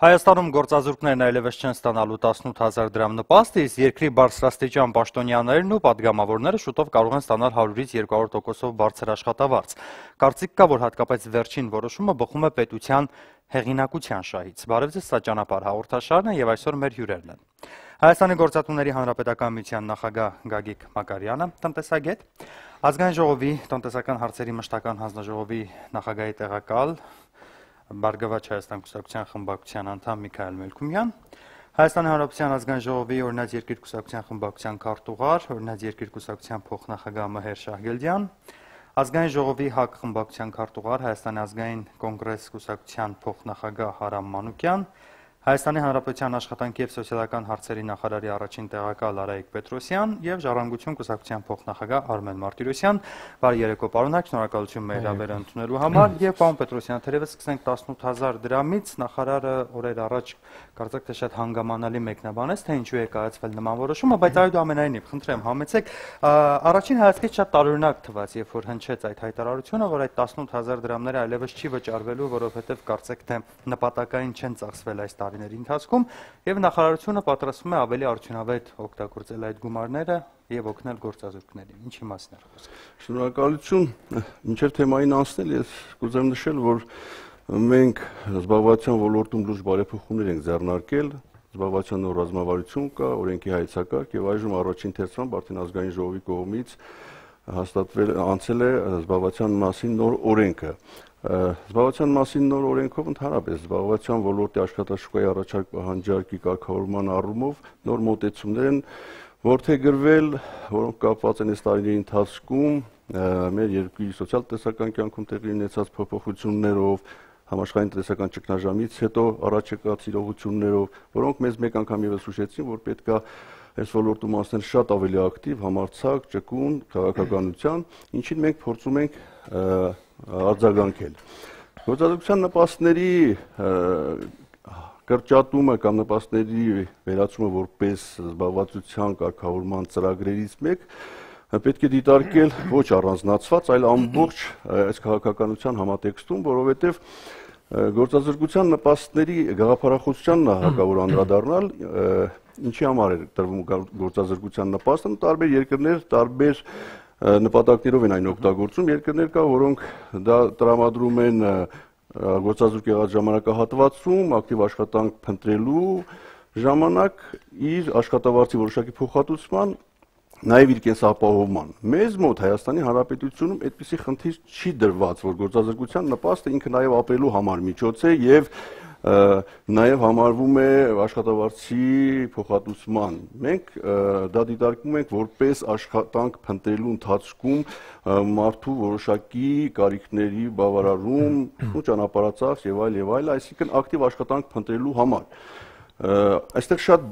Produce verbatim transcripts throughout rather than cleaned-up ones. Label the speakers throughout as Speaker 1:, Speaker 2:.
Speaker 1: Հայաստանում գործազուրկներն այլևս չեն ստանալու տասնութ հազար դրամ նպաստ, իսկ երկրի բարձրաստիճան պաշտոնյաներն ու падգամավորները շուտով կարող են ստանալ հարյուրից երկու հարյուր տոկոսով բարձր աշխատավարձ։ Կարծիք կա, որ հատկապես վերջին որոշումը բխում է պետության հեղինակության շահից։ Բարև ձեզ, սա ճանապարհ հաղորդաշարն է եւ այսօր մեր հյուրերն են։ Հայաստանի գործատուների հանրապետական միության նախագահ Գագիկ Մակարյանը, տնտեսագետ, Ազգային ժողովի տնտեսական հարցերի մշտական հանձնաժողովի նախագահի տեղակալ Բարգավաճ Հայաստան կուսակցության խմբակցության անդամ Միքայել Մելքումյան, Հայաստանի Հանրապետության ազգային ժողովի օրինաց երկիր կուսակցության խմբակցության քարտուղար, օրինաց երկիր կուսակցության փոխնախագահ Մհեր Շահգելդյան, Ազգային ժողովի ՀԱԿ խմբակցության քարտուղար, Հայաստանի ազգային կոնգրես կուսակցության փոխնախագահ Հարամ Մանուկյան, Հայաստանի Հանրապետության աշխատանքի և սոցիալական հարցերի նախարարի առաջին տեղակալ Արայիկ Պետրոսյան և Ժառանգություն կուսակցության փոխնախագահ Արմեն Մարտիրոսյան։ Բարի երեկո, պարոններ, շնորհակալություն մեր հրավերը ընդունելու համար։ Եվ պարոն Պետրոսյան, թերևս սկսենք տասնութ հազար դրամից, նախարարը օրեր առաջ կարծեք թե շատ հանգամանալի մեկնաբանեց, թե ինչու է կայացվել նման որոշումը, բայց այդուամենայնիվ, խնդրեմ, համեցեք, առաջին հայացքից շատ տարօրինակ թվաց, երբ որ հնչեց այդ հայտարարությունը, որ այդ տասնութ հազար դրամները այլևս չի վճարվելու, որովհետև կարծեք թե նպատակային չեն ծախսվել այս տարիների ընթացքում, եւ նախարարությունը պատրաստվում է ավելի արդյունավետ օգտագործել այդ գումարները եւ օգնել գործազուրկներին։ Ինչի մասին է խոսքը։
Speaker 2: Շնորհակալություն, մինչև թեմային անցնել, ես կուզեմ նշել, որ մենք զբաղվածության ոլորտում լուրջ բարեփոխումներ ենք ձեռնարկել, զբաղվածության նոր ռազմավարություն կա, օրենքի հայեցակարգ եւ այժմ առաջին թերթությամբ արդեն ազգային ժողովի կողմից հաստատվել անցել է զբաղվածության մասին նոր օրենքը։ Զբաղվածության մասին նոր օրենքով ընդհանրապես զբաղվածության ոլորտի աշխատաշուկայի առաջարկ պահանջարկի կարգավորման առումով նոր մոտեցումներ են որդեգրվել, որոնք կապված են այս տարիների ընթացքում մեր երկրի սոցիալ-տնտեսական կյանքում տեղի ունեցած փոփոխություններով, համաշխարհային տնտեսական ճգնաժամից հետո առաջ եկած իրողություններով, որոնք մեզ մեկ անգամ ևս հուշեցին, որ պետք է այս ոլորտում անցնել շատ ավելի ակտիվ, համարձակ, ճկուն քաղաքականության, ինչին մենք փորձում ենք արձագանքել։ Գործազուրկության նպաստների կրճատումը կամ նպաստների վերացումը որպես զբաղվածության կարգավորման ծրագրերից մեկ պետք է դիտարկել ոչ առանձնացված, այլ ամբողջ այս քաղաքականության համատեքստում, որովհետև գործազուրկության նպաստների գաղափարախոսությանն է հարկավոր անդրադառնալ, ինչի համար է տրվում գործազուրկության նպաստը, տարբեր երկրներ տարբեր նպատակներով են այն օգտագործում, երկրներ կա, որոնք դա տրամադրում են գործազուրկ եղած ժամանակահատվածում, ակտիվ աշխատանք փնտրելու ժամանակ իր աշխատավարձի որոշակի փոխհատուցման, նաև իր կենսապահովման։ Մեզ մոտ Հայաստանի Հանրապետությունում այդպիսի խնդիր չի դրված, որ գործազուրկության նպաստը ինքը նաև ապրելու համար միջոց է եւ նաև համարվում է աշխատավարձի փոխհատուցման։ Մենք դա դիտարկում ենք որպես աշխատանք փնտրելու ընթացքում մարդու որոշակի կարիքների բավարարում ու ճանապարհածախս եւ այլ եւ այլ, այսինքն ակտիվ աշխատանք փնտրելու համար։ Այստեղ շատ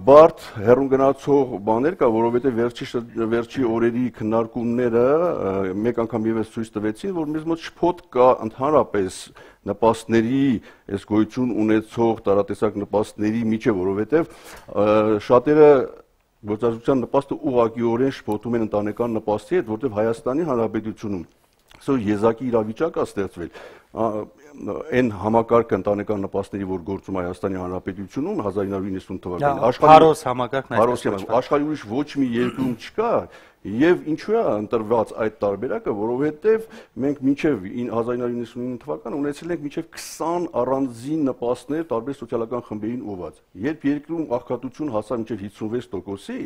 Speaker 2: բարդ հեռուն գնացող բաներ կա, որովհետև վերջի վերջի օրերի քննարկումները մեկ անգամ ևս ցույց տվեցին, որ մեզ մոտ շփոթ կա ընդհանրապես նպաստների, այս գոյություն ունեցող տարատեսակ նպաստների միջև, որովհետև շատերը գործազուրկության նպաստը ուղղակիորեն շփոթում են ընտանեկան նպաստի հետ, որովհետև Հայաստանի Հանրապետությունում սա եզակի իրավիճակ է ստեղծվել։ Այն համակարգը ընտանեկան նպաստների, որ գործում է Հայաստանի Հանրապետությունում հազար ինը հարյուր իննսուն թվականին,
Speaker 1: Փարոս համակարգն է,
Speaker 2: աշխարհի ուրիշ ոչ մի երկրում չկա, եւ ինչու է ընտրված այդ տարբերակը, որովհետեւ մենք մինչեւ հազար ինը հարյուր իննսուն թվականը ունեցել ենք մինչեւ քսան առանձին նպաստներ տարբեր սոցիալական խմբերին ուղղված։ Երբ երկրում աղքատություն հասավ մինչեւ հիսունվեց տոկոսի,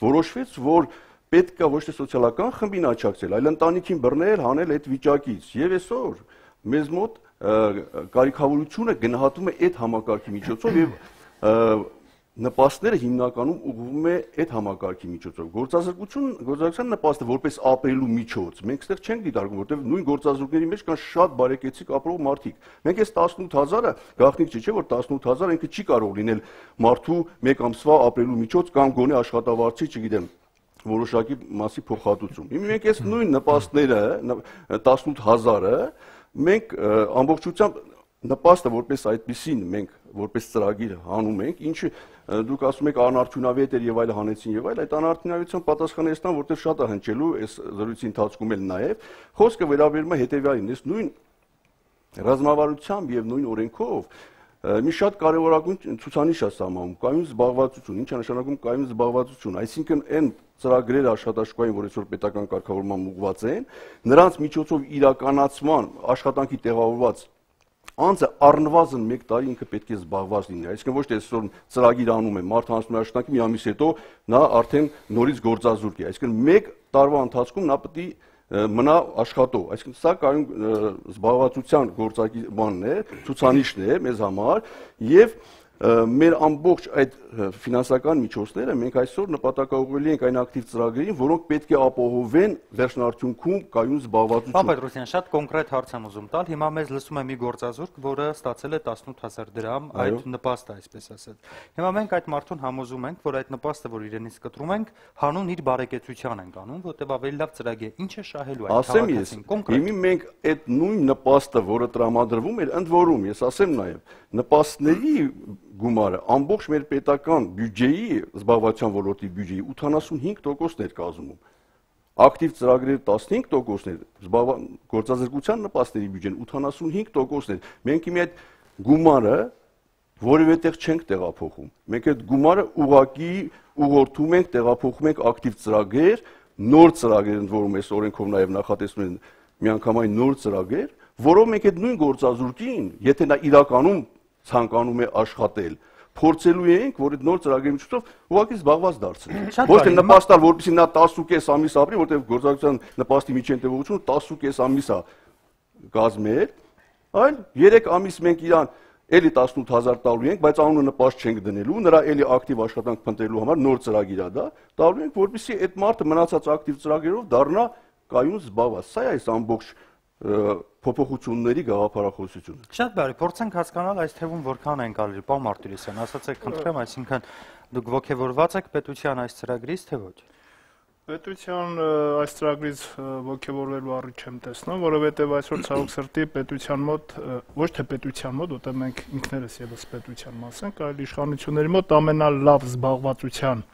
Speaker 2: որոշվեց, որ պետք է ոչ թե սոցիալական խմբին աջակցել, այլ ընտանիքին բռնել, հանել այդ վիճակից։ Եվ այսօր մեզ մոտ կարիքավորությունը գնահատում է այդ համակարգի միջոցով եւ նպաստները հիմնականում ուղղվում է այդ համակարգի միջոցով։ Գործազուրկություն, գործազուրկության նպաստը որպես ապրելու միջոց, մենք այստեղ չենք դիտարկում, որովհետեւ նույն գործազուրկների մեջ կան շատ բարեկեցիկ ապրող մարդիկ։ Մենք այս տասնութ հազարը գաղտնիք չի, չէ՞ որ տասնութ հազար ինքը չի կարող լինել մարդու մեկ ամսվա ապրելու միջոց կամ գոնե աշխատավարձի, չգիտեմ, որոշակի մասի փոխհատուցում։ Հիմա մենք այս նույն նպաստները տասնութ հազարը մենք ամբողջությամբ նպաստը որպես այդպեսին մենք որպես ծրագիր հանում ենք, ինչը դուք ասում եք անարդյունավետ էր եւ այլ հանեցին եւ այլ, այդ անարդյունավետության պատասխանեցան, որտեղ շատ է հնչելու այս զրույցի ընթացքում էլ նաեւ խոսքը վերաբերում է հետեւյալին, այս նույն ռազմավարությամբ եւ նույն օրենքով մի շատ կարևորագույն ցուցանիշ է սահմանում կայուն զբաղվածություն, ինչ է նշանակում կայուն զբաղվածություն, այսինքն այն ծրագրերը աշխատաշուկային, որ այսօր պետական կարգավորման ուղղված են, նրանց միջոցով իրականացման աշխատանքի տեղավորված անձը առնվազն մեկ տարի ինքը պետք է զբաղված լինի, այսինքն ոչ թե այսօր ծրագիր անում է, մարդը անցնում է աշխատանքի մի ամիս հետո նա արդեն նորից գործազուրկ է, այսինքն մեկ տարվա ընթացքում նա պետք է մնա աշխատող, այսինքն սա կայուն զբաղվածության գործակի բանն է, ցուցանիշն է մեզ համար եւ մեր ամբողջ այդ ֆինանսական միջոցները մենք այսօր նպատակաուղղելի ենք այն ակտիվ ծրագրերին, որոնք պետք է ապահովեն վերջնարդյունքում կայուն զբաղվածություն։
Speaker 1: Պարոն Պետրոսյան, շատ կոնկրետ հարց եմ ուզում տալ։ Հիմա մեզ լսում է մի գործազուրկ, որը ստացել է տասնութ հազար դրամ այդ նպաստը, այսպես ասած։ Հիմա մենք այդ մարդուն համոզում ենք, որ այդ նպաստը, որ իրենից կտրում ենք, հանուն իր բարեկեցության ենք անում, որտեղ ավելի լավ ծրագիր է։ Ինչ է շահելու այդ քաղաքացին կոնկրետ։
Speaker 2: Հիմա մենք այդ նույն նպաստը, որը տրամադրվում էր, ընդ որում, ես ասեմ նաև, նպաստների գումարը ամբողջ մեր պետական բյուջեի զբաղվածության ոլորտի բյուջեի ութանասունհինգ տոկոսն էր կազմում։ Ակտիվ ծրագրերի տասնհինգ տոկոսն էր, գործազրկության նպաստների բյուջեն ութանասունհինգ տոկոսն էր։ Մենք հիմա այդ գումարը որևէ տեղ չենք տեղափոխում։ Մենք այդ գումարը ուղղակի ուղղորդում ենք, տեղափոխում ենք ակտիվ ծրագրեր, նոր ծրագրեր, ընդ որում այս օրենքով նաև նախատեսվում են միանգամայն նոր ծրագրեր, որով մենք այդ նույն գործազուրկին, եթե նա իրականում ցանկանում է աշխատել, փորձելու ենք, որ այդ նոր ծրագրերի միջոցով ուղղակի զբաղված դարձնել։ Ոչ թե նպաստալ, որպեսզի նա տասնուկես ամիս ապրի, որտեղ գործակցության նպաստի միջին տևողությունը տասնուկես ամիս է կազմել, այլ երեք ամիս մենք իրան էլի տասնութ հազար տալու ենք, բայց անունը նպաստ չենք դնելու, նրա էլի ակտիվ աշխատանք փնտրելու համար նոր ծրագիր է դա, տալու ենք, որպեսզի այդ մարդը մնացած ակտիվ ծրագրերով դառնա կայուն զբաղված։ Սա է այս ամբողջ փոփոխությունների գաղափարախոսությունը։
Speaker 1: Շատ բարի, փորձենք հասկանալ այս թվում որքան են գալի, պարոն Մարտիրոսյան, ասացեք, խնդրեմ, այսինքն դուք ողջևորված եք պետության այս ծրագրից, թե ոչ։
Speaker 3: Պետության այս ծրագրից ողջևորվելու առիթ չեմ տեսնում, որովհետև այսօր ցավոք սրտի պետության մոտ, ոչ թե պետության մոտ, որտեղ մենք ինքներս եւս պետության մաս ենք, այլ իշխանությունների մոտ ամենալավ զբաղվածության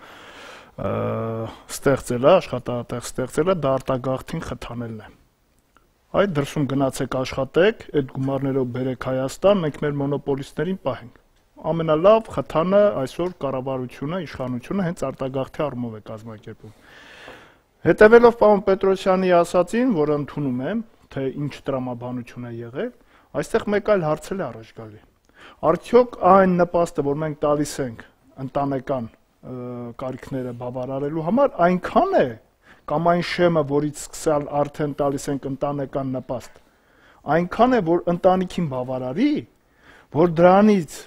Speaker 3: ստեղծելը, աշխատատեղ ստեղծելը դա արտագաղթին խթանելն է։ Այդ դրսում գնացեք աշխատեք, այդ գումարներով բերեք Հայաստան, մենք մեր մոնոպոլիստներին պահենք։ Ամենալավ խթանը այսօր կառավարությունը, իշխանությունը հենց արտագաղթի առումով է կազմակերպում։ Հետևելով պարոն Պետրոսյանի ասածին, որը ընդունում եմ, թե ինչ տրամաբանություն է եղել, այստեղ մեկ այլ հարց էլ առաջ գալի։ Արդյոք այն նպաստը, որ մենք տալիս ենք ընտանեկան կարիքները բավարարելու համար, այնքան է կամ այն շեմը, որից սկսալ արդեն տալիս ենք ընտանեկան նպաստ, այնքան է, որ ընտանիքին բավարարի, որ դրանից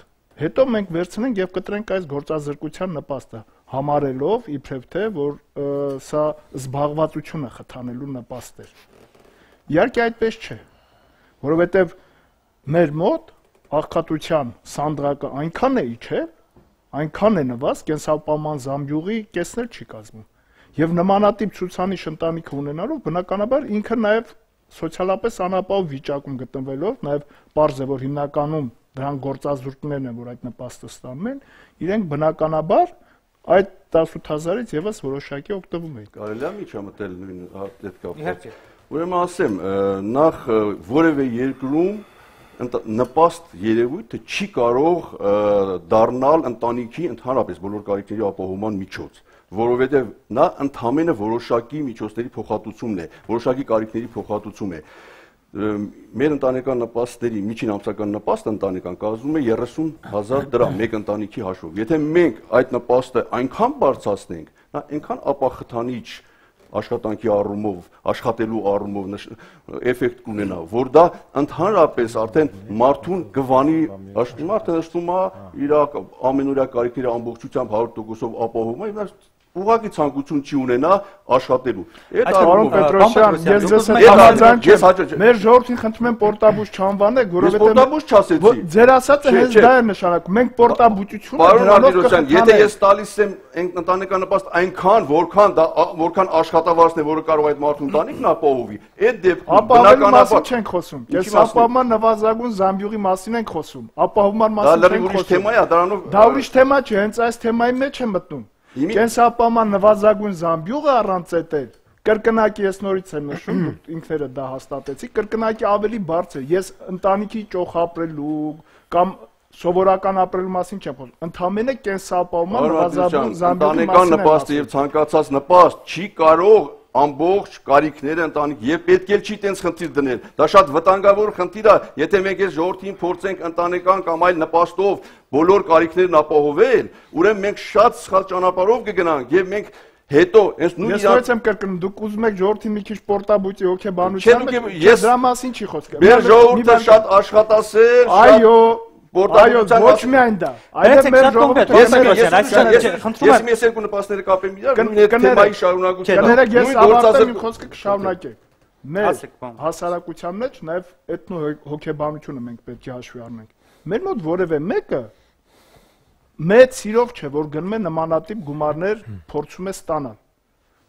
Speaker 3: հետո մենք վերցնենք եւ կտրենք այս գործազրկության նպաստը, համարելով իբրև թե, որ սա զբաղվածությունը խթանելու նպաստ էր։ Իհարկե այդպես չէ, որովհետեւ մեր մոտ աղքատության սանդղակը այնքան է իջել, այնքան է նվազ, կենսապահովման զամբյուղի կեսն էլ չի կազմում։ Եվ նմանատիպ ցուցանիշ ընտանիքը ունենալով, բնականաբար ինքը նաև սոցիալապես անապահով վիճակում գտնվելով, նաև պարզ է, որ հիմնականում դրան գործազուրկներն են, որ այդ նպաստը ստանում են, իրենք բնականաբար այդ տասնութ հազարից եւս որոշակի օգտվում են։
Speaker 2: Կարելի է միջամտել նույն հետ կապված։ Ուրեմն ասեմ, նախ որևէ երկրում նպաստ երևույթը չի կարող դառնալ ընտանիքի ընդհանրապես բոլոր կարիքների ապահովման միջոց, որովհետև նա ընդհանրապես որոշակի միջոցների փոխհատուցումն է, որոշակի կարիքների փոխհատուցում է։ Մեր ընտանեկան նպաստների միջին ամսական նպաստը ընտանեկան կազմում է երեսուն հազար դրամ մեկ ընտանիքի հաշվով։ Եթե մենք այդ նպաստը այնքան բարձրացնենք, նա այնքան ապախթանիչ աշխատանքի առումով, աշխատելու առումով էֆեկտ կունենա, որ դա ընդհանրապես արդեն մարդուն գվանի, մարդը նշվում է իր ամենօրյա կարիքների ամբողջությամբ հարյուր տոկոսով ապահովում է, ուղղակի ցանկություն չի ունենա աշխատելու։
Speaker 3: Այդ պարոն Պետրոսյան, ես ձեզ հետ համաձայն չեմ։ Մեր ժողովրդին խնդրում եմ պորտաբուժ չանվանեք, որովհետև
Speaker 2: պորտաբուժ չասեցի։
Speaker 3: Ձեր ասածը հենց դա է նշանակում։ Մենք պորտաբուժությունը
Speaker 2: դրանով կխթանենք։ Եթե ես տալիս եմ ընտանեկան նպաստ այնքան, որքան դա որքան աշխատավարձն է, որը կարող է այդ մարդու ընտանիքն ապահովի, այդ դեպքում
Speaker 3: բնականաբար չենք խոսում։ Կենսապահովման նվազագույն զամբյուղի մասին ենք խոսում։ Ապահովման մասին չենք խոսում։
Speaker 2: Դա ուրիշ թեմա է, դրանով
Speaker 3: Դա ուրիշ թեմա չէ, հենց այս թեմայի մեջ է մտնում։ Կենսապահովման նվազագույն զամբյուղը առանց էտել կրկնակի ես նորից եմ նշում, դուք ինքները դա հաստատեցիք, կրկնակի ավելի բարձր է։ Ես ընտանիքի ճոխ ապրելու կամ Սովորական ապրելու մասին չեմ խոսում, ընդհանրապես կենսապահովման նվազագույն զամբյուղի
Speaker 2: ընտանեկան նպաստը եւ ցանկացած նպաստ չի կարող ամբողջ կարիքները ընտանիք եւ պետք է չի տենց խնդիր դնել։ Դա շատ վտանգավոր խնդիր է, եթե մենք այս ժողովրդին փորձենք ընտանեկան կամ այլ նպաստով բոլոր կարիքներն ապահովել, ուրեմն մենք շատ սխալ ճանապարհով կգնանք եւ մենք հետո այս նույն
Speaker 3: Ես ո՞նց եմ կրկնում, դուք ուզում եք ժողովրդի մի քիչ պորտաբույծի հոգեբանության, ես դրա մասին չի խոսքը։
Speaker 2: Մեր ժողովուրդը շատ աշխատասեր,
Speaker 3: այո, այո, ոչ միայն դա, այլև մեր ժողովուրդը
Speaker 2: ես ես երկու նպաստները կապեմ իրար, նույն այդ թեմայի շարունակությամբ։
Speaker 3: Կներեք, ես ավարտեմ իմ խոսքը կշարունակեք։ Մեր հասարակության մեջ նաև էթնո հոգեբանությունը մենք պետք է հաշվի առնենք։ Մեր մոտ որևէ մեկը մեծ սիրով չէ, որ գնում է նմանատիպ գումարներ փորձում է ստանալ։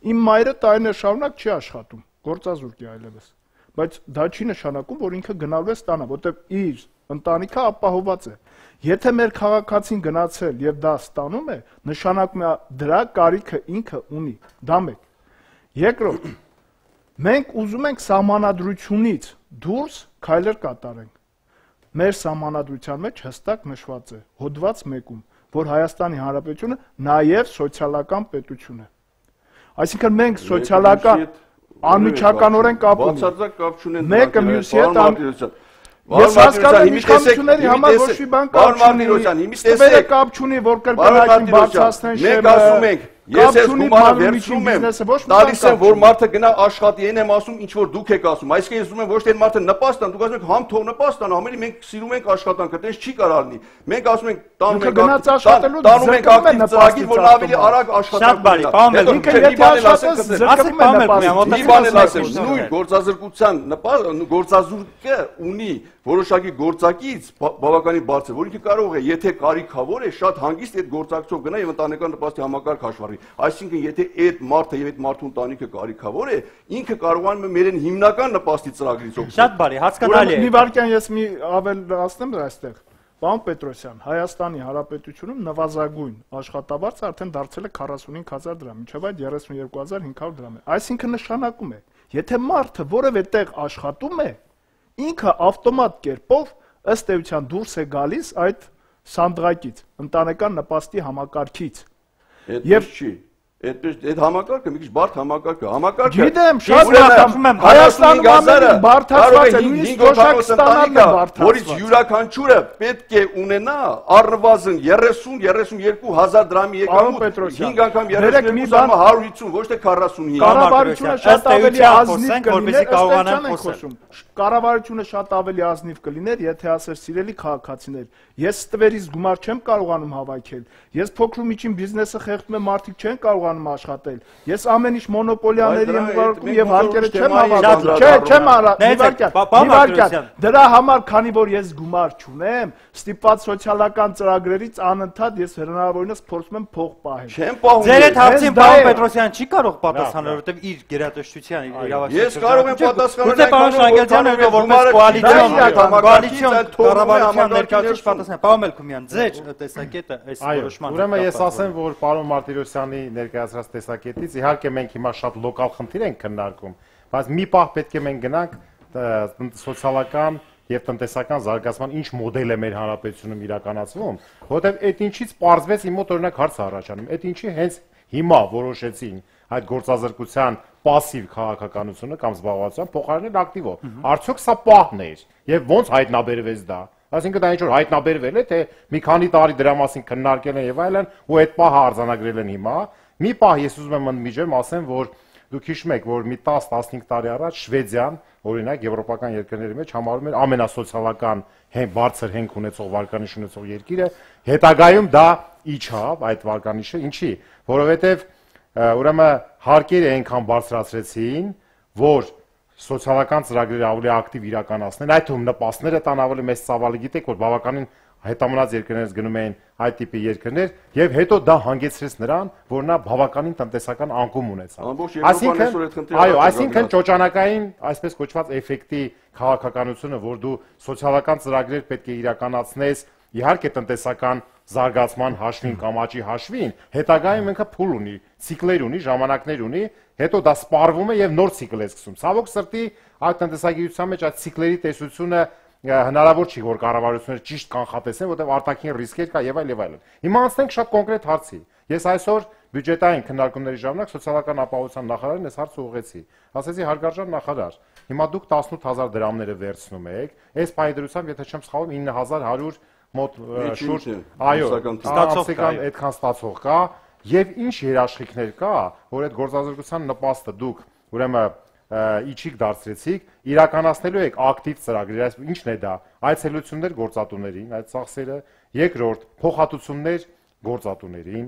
Speaker 3: Իմ մայրը տարիներ շարունակ չի աշխատում, գործազուրկ է այլևս, բայց դա չի նշանակում, որ ինքը գնալու է ստանա, որտեղ իր ընտանիքը ապահովված է։ Եթե մեր քաղաքացին գնացել եւ դա ստանում է, նշանակում է դրա կարիքը ինքը ունի։ Դա մեկ։ Երկրորդ, մենք ուզում ենք սահմանադրությունից դուրս քայլեր կատարենք։ Մեր սահմանադրության մեջ հստակ նշված է հոդված մեկում, որ Հայաստանի Հանրապետությունը նաև սոցիալական պետություն է։ Այսինքն մենք սոցիալական անմիջականորեն կապ ունենք։
Speaker 2: Բացարձակ կապ չունեն։
Speaker 3: Մեկը մյուսի հետ Ես հասկանում եմ իշխանությունների համար ոչ մի բան կապ չունի։ Ստվերը կապ չունի, որ կրկնակին բարձրացնեն շեմը։
Speaker 2: Մենք ասում ենք, ես ես գումարը վերցնում եմ, տալիս եմ, որ մարդը գնա աշխատի, այն եմ ասում, ինչ որ դուք եք ասում։ Այսինքն ես ուզում եմ ոչ թե մարդը նպաստ տան, դուք ասում եք համ թող նպաստ տան, ամենի մենք սիրում ենք աշխատանքը, դες չի կարող լինի։ Մենք ասում ենք տանում ենք տանում ենք ակտիվ ծրագիր, որ ավելի արագ աշխատանք
Speaker 1: բարի, պարոն
Speaker 3: ինքը եթե աշխատես զրկվում է նպաստը։
Speaker 2: Մի բան էլ ասեմ, նույն գործազրկության գործազուրկը ունի որոշակի գործակից բավականին բարձր, որ ինքը կարող է, եթե կարիքավոր է, շատ հանգիստ այդ գործակցով գնա եւ ընտանեկան նպաստի համակարգ հաշվառի։ Այսինքն, եթե այդ մարդը եւ այդ մարդու ընտանիքը կարիքավոր է, ինքը կարողանում է մերեն հիմնական նպաստի ծրագրից օգտվել։
Speaker 1: Շատ բարի, հասկանալի է։
Speaker 3: Մի վարքյան ես մի ավելացնեմ այստեղ։ Պարոն Պետրոսյան, Հայաստանի Հանրապետությունում նվազագույն աշխատավարձը արդեն դարձել է քառասունհինգ հազար դրամ, մինչև այդ երեսունյոթ հազար հինգ հարյուր դրամ է։ Այսինքն նշանակում է, եթե մարդը որևէ տեղ աշխատում է, ինքը ավտոմատ կերպով ըստ էության դուրս է գալիս այդ սանդղակից, ընտանեկան նպաստի համակարգից։
Speaker 2: Եվ չի, այդպես այդ համակարգը մի քիչ բարդ համակարգ է։ Համակարգը
Speaker 3: Գիտեմ, շատ բարդ եմ։ Հայաստանում ամենին բարդացված է, նույնիսկ թոշակ ստանալն է բարդացված։
Speaker 2: Որից յուրաքանչյուրը պետք է ունենա առնվազն երեսուն երեսունյոթ հազար դրամի եկամուտ, հինգ անգամ երեսունյոթ անգամ հարյուր հիսուն, ոչ թե քառասունհինգ։
Speaker 3: Կառավարությունը շատ ավելի ազնիվ կլիներ, կարողանան խոսել։ Կառավարությունը շատ ավելի ազնիվ կլիներ, եթե ասեր սիրելի քաղաքացիներ, ես ստվերից գումար չեմ կարողանում հավաքել, ես փոքր ու միջին բիզնեսը խեղդում եմ, մարդիկ չեն կարողանում աշխատել, ես ամեն ինչ մոնոպոլիաների եմ ուղարկում եւ հարկերը չեմ հավաքում, չէ, չեմ արարել, դրա համար, քանի որ ես գումար չունեմ, ստիպված սոցիալական ծրագրերից անընդհատ ես հնարավորինս փորձում եմ փող պահել։
Speaker 2: Չեմ պահում։
Speaker 1: Ձեր այդ հարցին պարոն Պետրոսյան չի կարող պատասխանել, որովհետեւ իր գերատեսչության իրավասության։
Speaker 2: Ես կարող եմ պատասխանել
Speaker 1: պարոն Շանգելյանը որպես կոալիցիոն կոալիցիոն կառավարության ներկայացուցիչ պատասխան։ Պարոն Մելքումյան, ձեր տեսակետը այս որոշմանը։
Speaker 4: Ուրեմն ես ասեմ, որ պարոն Մարտիրոսյանի ներկայացրած տեսակետից իհարկե մենք հիմա շատ լոկալ խնդիր ենք քննարկում, բայց մի պահ պետք է մենք գնանք սոցիալական եւ տնտեսական զարգացման ինչ մոդել է մեր հանրապետությունում իրականացվում, որովհետեւ այդ ինչից պարզվեց իմ մոտ օրինակ հարց առաջանում, այդ ինչի հենց հիմա որոշեցին այդ գործազրկության пассив քաղաքականությունը կամ զբաղվածության փոխարինել ակտիվով։ Արդյոք սա պահն է եւ ոնց հայտնաբերվեց դա։ Այսինքն դա ինչ որ հայտնաբերվել է, թե մի քանի տարի դրա մասին քննարկել են եւ այլն, ու այդ պահը արձանագրել են հիմա։ Մի պահ ես ուզում եմ ընդմիջեմ, ասեմ, որ դուք հիշում եք, որ մի տասը տասնհինգ տարի առաջ Շվեդիան, օրինակ, եվրոպական երկրների մեջ համարում էր ամենասոցիալական բարձր հենք ունեցող վարկանիշ ունեցող երկիրը, հետագայում դա իջավ այդ վարկանիշը, ինչի, որովհետեւ ուրեմն հարկերը այնքան բարձրացրեցին, որ սոցիալական ծրագրերը ավելի ակտիվ իրականացնեն, այդ թվում նպաստները տան ավելի մեծ ծավալը, գիտեք, որ բավականին հետամնաց երկրներից գնում էին այդ տիպի երկրներ եւ հետո դա հանգեցրեց նրան, որ նա բավականին տնտեսական անկում ունեցավ։ Այսինքն, այո, այսինքն ճոճանակային, այսպես կոչված էֆեկտի քաղաքականությունը, որ դու սոցիալական ծրագրեր պետք է իրականացնես, իհարկե տնտեսական զարգացման հաշվին կամ աճի հաշվին, հետագայում ինքը փուլ ունի, ցիկլեր ունի, ժամանակներ ունի, հետո դա սպառվում է եւ նոր ցիկլ է սկսում։ Ցավոք սրտի, այդ տնտեսագիտության մեջ այդ ցիկլերի տեսությունը հնարավոր չի որ կառավարությունները ճիշտ կանխատեսեն, որտեղ արտաքին ռիսկեր կա եւ այլ եւ այլն։ Հիմա անցնենք շատ կոնկրետ հարցի։ Ես այսօր բյուջետային քննարկումների ժամանակ սոցիալական ապահովության նախարարին այս հարցը ուղղեցի։ Ասեցի հարգարժան նախարար, հիմա դուք տասնութ հազար դրամները վերցնում եք, այս պայդրությամբ, եթե չեմ սխալվում, ինը հազար հարյուր մոտ շուրջ, այո, ստացողական այդքան ստացող կա, եւ ինչ երաշխիքներ կա, որ այդ գործազրկության նպաստը դուք ուրեմն իջիկ դարձրեցիք, իրականացնելու եք ակտիվ ծրագրեր, այս ինչն է դա, այցելություններ գործատուներին, այդ ծախսերը, երկրորդ փոխհատուցումներ գործատուներին,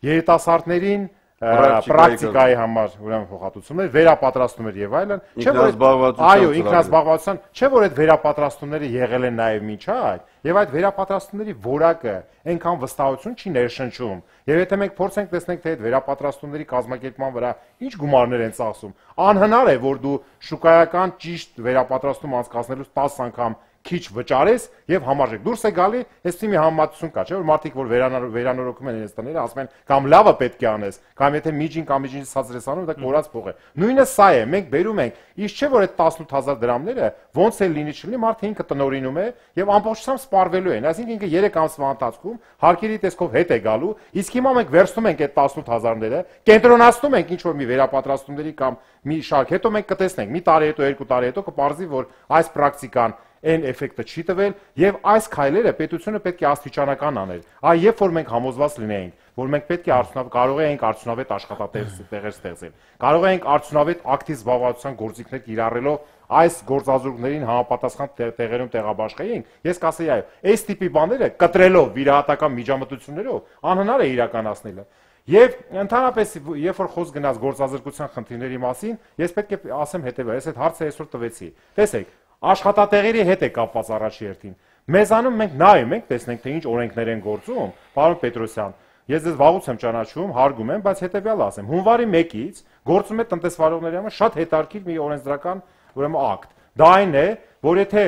Speaker 4: երիտասարդներին պրակտիկայի համար ուրեմն փոխհատուցումներ, վերապատրաստումներ եւ այլն, չէ՞ որ այո, ինքնազբաղվածության, չէ՞ որ այդ վերապատրաստումները եղել են նաեւ միջ այդ, եւ այդ վերապատրաստումների որակը այնքան վստահություն չի ներշնչում։ Եվ եթե մենք փորձենք տեսնենք թե այդ վերապատրաստումների կազմակերպման վրա ինչ գումարներ են ծախսում, անհնար է որ դու շուկայական ճիշտ վերապատրաստում անցկացնելուց տասը անգամ քիչ վճարես եւ համարժեք դուրս է գալի, այսպես մի համեմատություն կա, չէ՞ որ մարդիկ որ վերանորոգում են իրենց տները, ասում են կամ լավը պետք է անես, կամ եթե միջին կամ միջին ցածր ես անում, դա կորած փող է։ Նույնը սա է, մենք բերում ենք, իսկ չէ՞ որ այդ տասնութ հազար դրամները ոնց է լինի չլինի, մարդը ինքը տնօրինում է եւ ամբողջությամբ սպառվելու են, այսինքն ինքը երեք ամսվա ընթացքում հարկերի տեսքով հետ է գալու, իսկ հիմա մենք վերցնում ենք այդ տասնութ հազարները, կենտրոնացնում ենք ինչ որ մի վերապատրաստումների կամ մի շարք, հետո մենք կտեսնենք, մի տարի հետո, երկու տարի հետո կպարզի, որ այս պրակտիկան այն էֆեկտը չի տվել եւ այս քայլերը պետությունը պետք է աստիճանական աներ։ Այ երբ որ մենք համոզված լինեինք, որ մենք պետք է արդյունավետ կարող ենք արդյունավետ աշխատատեղեր ստեղծել, կարող ենք արդյունավետ ակտիվ զբաղվածության գործիքներ կիրառելով այս գործազուրկներին համապատասխան տեղերում տեղաբաշխեինք, ես կասեի այո, այս տիպի բաները կտրելով վիրահատական միջամտություններով անհնար է իրականացնելը։ Եվ ընդհանրապես երբ որ խոսք գնաց գործազրկության խնդիրների մասին, ես պետք է ասեմ հետևյալը, ես այդ հարցը այսօր տվեցի։ Տեսեք, աշխատատեղերի հետ է կապված առաջի հերթին։ Մեզանում մենք նայում ենք, տեսնենք թե ինչ օրենքներ են գործում, պարոն Պետրոսյան, ես ձեզ վաղուց եմ ճանաչում, հարգում եմ, բայց հետևյալը ասեմ, հունվարի մեկից գործում է տնտեսվարողների համար շատ հետաքրքիր մի օրենսդրական ուրեմն ակտ։ Դա այն է, որ եթե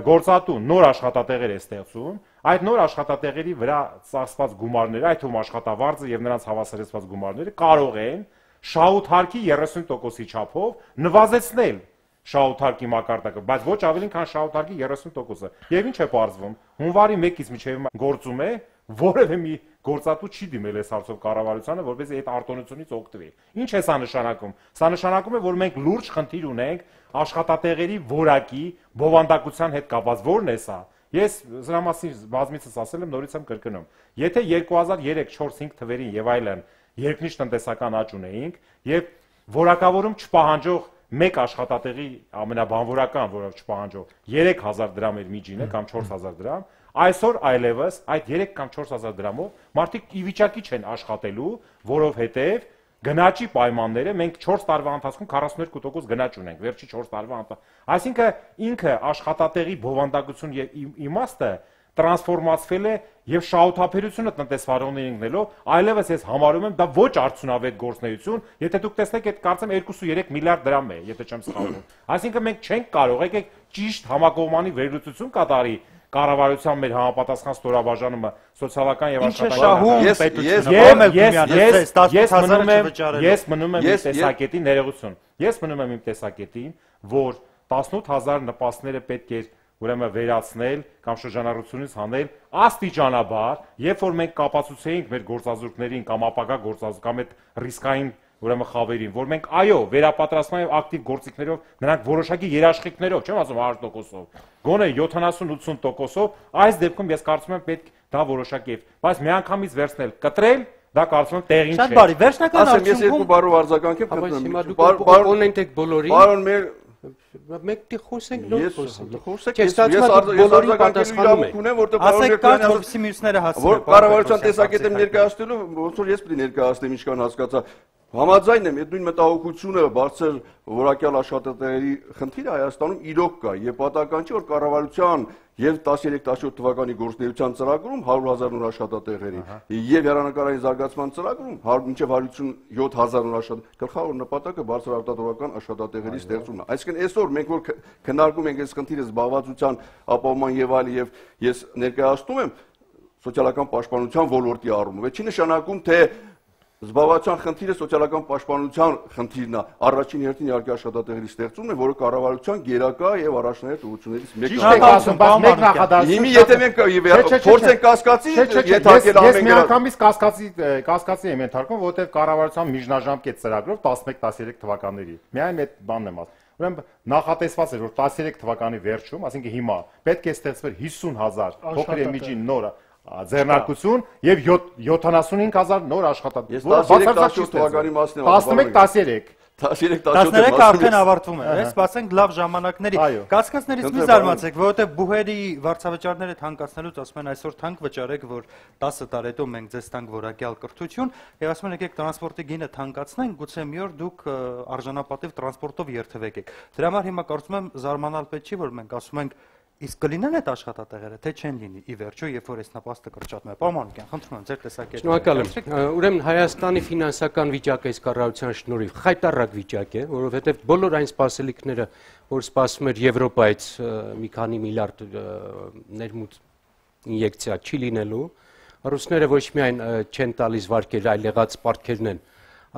Speaker 4: գործատու նոր աշխատատեղեր է ստեղծում, այդ նոր աշխատատեղերի վրա ծախսված գումարները, այդ թվում աշխատավարձը եւ նրանց հավասարեցված գումարները կարող են շահութարկի երեսուն տոկոսի չափով նվազեցնել շահութարկի մակարդակը, բայց ոչ ավելին, քան շահութարկի երեսուն տոկոսը։ Եվ ինչ է պարզվում, հունվարի մեկից մինչև գործում է, որևէ մի գործատու չի դիմել այս հարցով կառավարությանը, որպեսզի այդ արտոնությունից օգտվի։ Ինչ է սա նշանակում։ Սա նշանակում է, որ մենք լուրջ խնդիր ունենք աշխատատեղերի որակի բովանդակության հետ կապված։ Որն է սա։ Ես սրա մասին բազմիցս ասել եմ, նորից եմ կրկնում։ Եթե երկու հազար երեք, չորս, հինգ թվերին եւ այլն երկնիշ տնտեսական աճ ունեինք եւ որակավորում չպահանջող մեկ աշխատատեղի ամենաբանվորական, որը չպահանջող երեք հազար դրամ էր միջինը կամ չորս հազար դրամ, այսօր այլևս այդ երեք կամ չորս հազար դրամով մարդիկ ի վիճակի չեն աշխատելու, որովհետև գնաճի պայմանները մենք չորս տարվա ընթացքում քառասունութ տոկոս գնաճ ունենք, վերջի չորս տարվա ընթացքում։ Այսինքն ինքը աշխատատեղի բովանդակություն եւ իմաստը տրանսֆորմացվել է եւ շահութափերությունը տնտեսվարողներին ընկնելով, այլևս ես համարում եմ դա ոչ արդյունավետ գործունեություն, եթե դուք տեսնեք այդ կարծեմ երկուսուերեք միլիարդ դրամ է, եթե չեմ սխալվում։ Այսինքն մենք չենք կարող եկեք ճիշտ համակողմանի վերլուծություն կատարի կառավարության մեր համապատասխան ստորաբաժանումը սոցիալական եւ աշխատանքային ես մնում եմ իմ տեսակետին ներողություն։ Ես մնում եմ իմ տեսակետին, որ տասնութ հազար նպաստները պետք է ուրեմն վերացնել կամ շրջանառությունից հանել աստիճանաբար, երբ որ մենք կապացուցեինք մեր գործազուրկներին կամ ապագա գործազուրկ կամ այդ ռիսկային ուրեմն խավերին, որ մենք այո, վերապատրաստման եւ ակտիվ գործիքներով նրանք որոշակի երաշխիքներով, չեմ ասում հարյուր տոկոսով, գոնե յոթանասուն ութսուն տոկոսով, այս դեպքում ես կարծում եմ պետք դա որոշակի է, բայց միանգամից վերցնել, կտրել, դա կարծում եմ տեղին չէ։
Speaker 1: Շատ բարի, վերջնական
Speaker 2: արդյունքում ես երկու բառով արձագանքեմ,
Speaker 5: հիմա դուք կոնենտ եք բոլորին։
Speaker 2: Պարոն մեր
Speaker 5: մեկտի խոսենք նոր խոսենք։
Speaker 2: Խոսեք, ես բոլորին պատասխանում եմ, որտեղ
Speaker 1: պարոն Մերկոյանը որպեսզի մյուսները հասցնեն։
Speaker 2: Որ կառավարության տեսակետը ներկայացնելու, ոնց որ ես պետք է ներկայացնեմ, ինչքան հասկացա։ Համաձայն եմ, այդ նույն մտահոգությունը բարձր որակյալ աշխատատեղերի խնդիրը Հայաստանում իրոք կա եւ պատահական չէ, որ կառավարության եւ տասներեք տասնյոթ թվականի գործնեայության ծրագրում հարյուր հազար նոր աշխատատեղերի եւ հեռանկարային զարգացման ծրագրում մինչեւ հարյուրութ հազար նոր աշխատատեղերի գլխավոր նպատակը բարձր արտադրական աշխատատեղերի ստեղծումն է։ Այսինքն այսօր մենք որ քննարկում ենք այս խնդիրը զբաղվածության ապահովման եւ այլ եւ ես ներկայացնում եմ սոցիալական պաշտպանության ոլորտի առումով, չի նշանակում թե Զբաղվածության խնդիրը սոցիալական պաշտպանության խնդիրն է, առաջին հերթին իհարկե աշխատատեղերի ստեղծումն է, որը կառավարության գերակա եւ առաջնահերթ ուղղություններից մեկն է։
Speaker 4: Ճիշտ եք ասում, բայց մեկ նախադասություն։
Speaker 2: Հիմի եթե մենք փորձենք կասկածի, ենթարկել
Speaker 4: ամեն
Speaker 2: գրը։
Speaker 4: Ես միանգամից կասկածի կասկածի եմ ենթարկում, որովհետեւ կառավարության միջնաժամկետ ծրագրով տասնմեկ տասներեք թվականների։ Միայն այդ բանն եմ ասում։ Ուրեմն նախատեսված էր, որ տասներեք թվականի վերջում, այսինքն հիմա պետք է ստեղծվեր հիսուն հազար փոքր եւ միջին նոր ձեռնարկություն եւ յոթանասունհինգ հազար նոր աշխատատեղ։
Speaker 2: տասներեք թվականի մասն եմ ասում։
Speaker 4: տասնմեկ տասներեք
Speaker 1: տասներեքը արդեն ավարտվում է, այս սպասենք լավ ժամանակների։ Կասկածներից մի զարմացեք, որովհետև բուհերի վարձավճարները թանկացնելուց ասում են այսօր թանկ վճարեք, որ տասը տարի հետո մենք ձեզ տանք որակյալ կրթություն, եւ ասում են եկեք տրանսպորտի գինը թանկացնենք, գուցե մի օր դուք արժանապատիվ տրանսպորտով երթվեք։ Դրա համար հիմա կարծում եմ զարմանալ պետք չի, որ մենք ասում ենք իսկ կլինեն այդ աշխատատեղերը, թե չեն լինի ի վերջո, երբ որ այս նպաստը կրճատվում է։ Պարոն Մանուկյան, խնդրում եմ ձեր տեսակետը։
Speaker 5: Շնորհակալ եմ։ Ուրեմն Հայաստանի ֆինանսական վիճակը այս կառավարության շնորհիվ խայտառակ վիճակ է, որովհետև բոլոր այն սպասելիքները, որ սպասում էր Եվրոպայից մի քանի միլիարդ ներմուծ ինյեկցիա չի լինելու, ռուսները ոչ միայն չեն տալիս վարկեր, այլ եղած պարտքերն են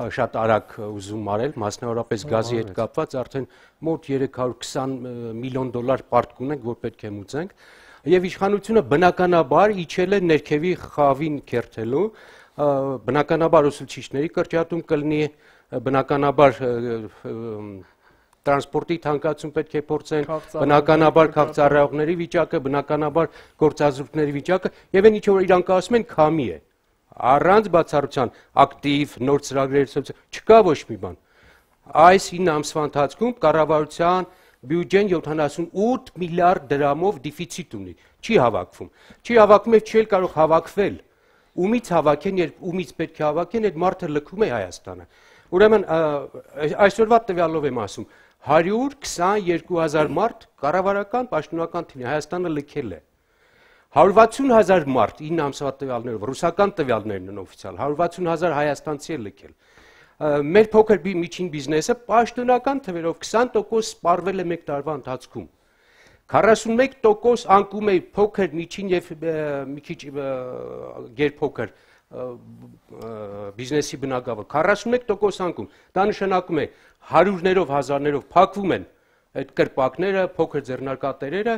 Speaker 5: շատ արագ ուզում արել, մասնավորապես գազի հետ կապված արդեն մոտ երեք հարյուր քսան միլիոն դոլար պարտք ունենք, որ պետք է մուծենք, եւ իշխանությունը բնականաբար իջել է ներքևի խավին քերթելու, բնականաբար ուսուցիչների կրճատում կլինի, բնականաբար տրանսպորտի թանկացում պետք է փորձեն, բնականաբար քաղաքծառայողների վիճակը, բնականաբար գործազուրկների վիճակը եւ այն ինչ որ իրանք ասում են քամի է։ Առանց բացառության ակտիվ նոր ծրագրեր չկա ոչ մի բան։ Այս ինը ամսվա ընթացքում կառավարության բյուջեն յոթանասունութ միլիարդ դրամով դեֆիցիտ ունի, չի հավաքվում։ Չի հավաքվում եւ չի կարող հավաքվել։ Ումից հավաքեն, երբ ումից պետք է հավաքեն, այդ մարդը լքում է Հայաստանը։ Ուրեմն այսօրվա տվյալով եմ ասում, հարյուր քսաներկու հազար մարդ կառավարական պաշտոնական թիմի Հայաստանը լքել է։ հարյուր վաթսուն հազար մարդ ինը ամսվա տվյալներով, ռուսական տվյալներն են օֆիցիալ, հարյուր վաթսուն հազար հայաստանցի է լքել։ Մեր փոքր միջին բիզնեսը պաշտոնական թվերով քսան տոկոս սպառվել է մեկ տարվա ընթացքում։ քառասունմեկ տոկոս անկում է փոքր միջին եւ մի քիչ գերփոքր բիզնեսի բնակավար, քառասունմեկ տոկոս անկում։ Դա նշանակում է հարյուրներով հազարներով փակվում են այդ կրպակները, փոքր ձեռնարկատերերը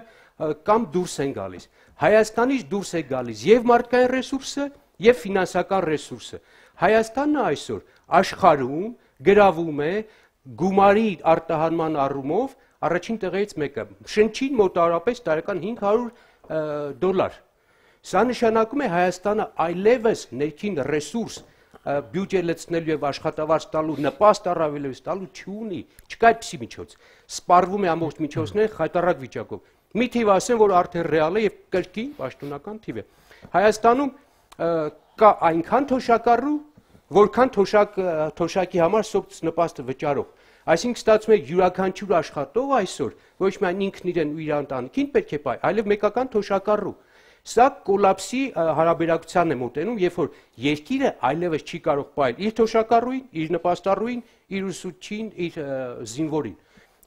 Speaker 5: կամ դուրս են գալիս։ Հայաստանից դուրս է գալիս եւ մարդկային ռեսուրսը եւ ֆինանսական ռեսուրսը։ Հայաստանը այսօր աշխարհում գրավում է գումարի արտահանման առումով առաջին տեղից մեկը։ Շնչին մոտավորապես տարեկան հինգ հարյուր դոլար։ Սա նշանակում է Հայաստանը այլևս ներքին ռեսուրս բյուջե լցնելու եւ աշխատավարձ տալու նպաստ առավելևս տալու չունի, չկա այդպիսի միջոց։ Սպառվում է ամբողջ միջոցները խայտառակ վիճակով։ Մի թիվ ասեմ, որ արդեն ռեալ է եւ կրկին պաշտոնական թիվ է։ Հայաստանում կա այնքան թոշակառու, որքան թոշակ թոշակի համար սոց նպաստը վճարող։ Այսինքն ստացվում է յուրաքանչյուր աշխատող այսօր ոչ միայն ինքն իրեն ու իր ընտանիքին պետք է բայ, այլև մեկական թոշակառու։ Սա կոլապսի հարաբերակցության է մոտենում, երբ որ երկիրը այլևս չի կարող բայել իր թոշակառուին, իր նպաստառուին, իր ուսուցչին, իր զինվորին։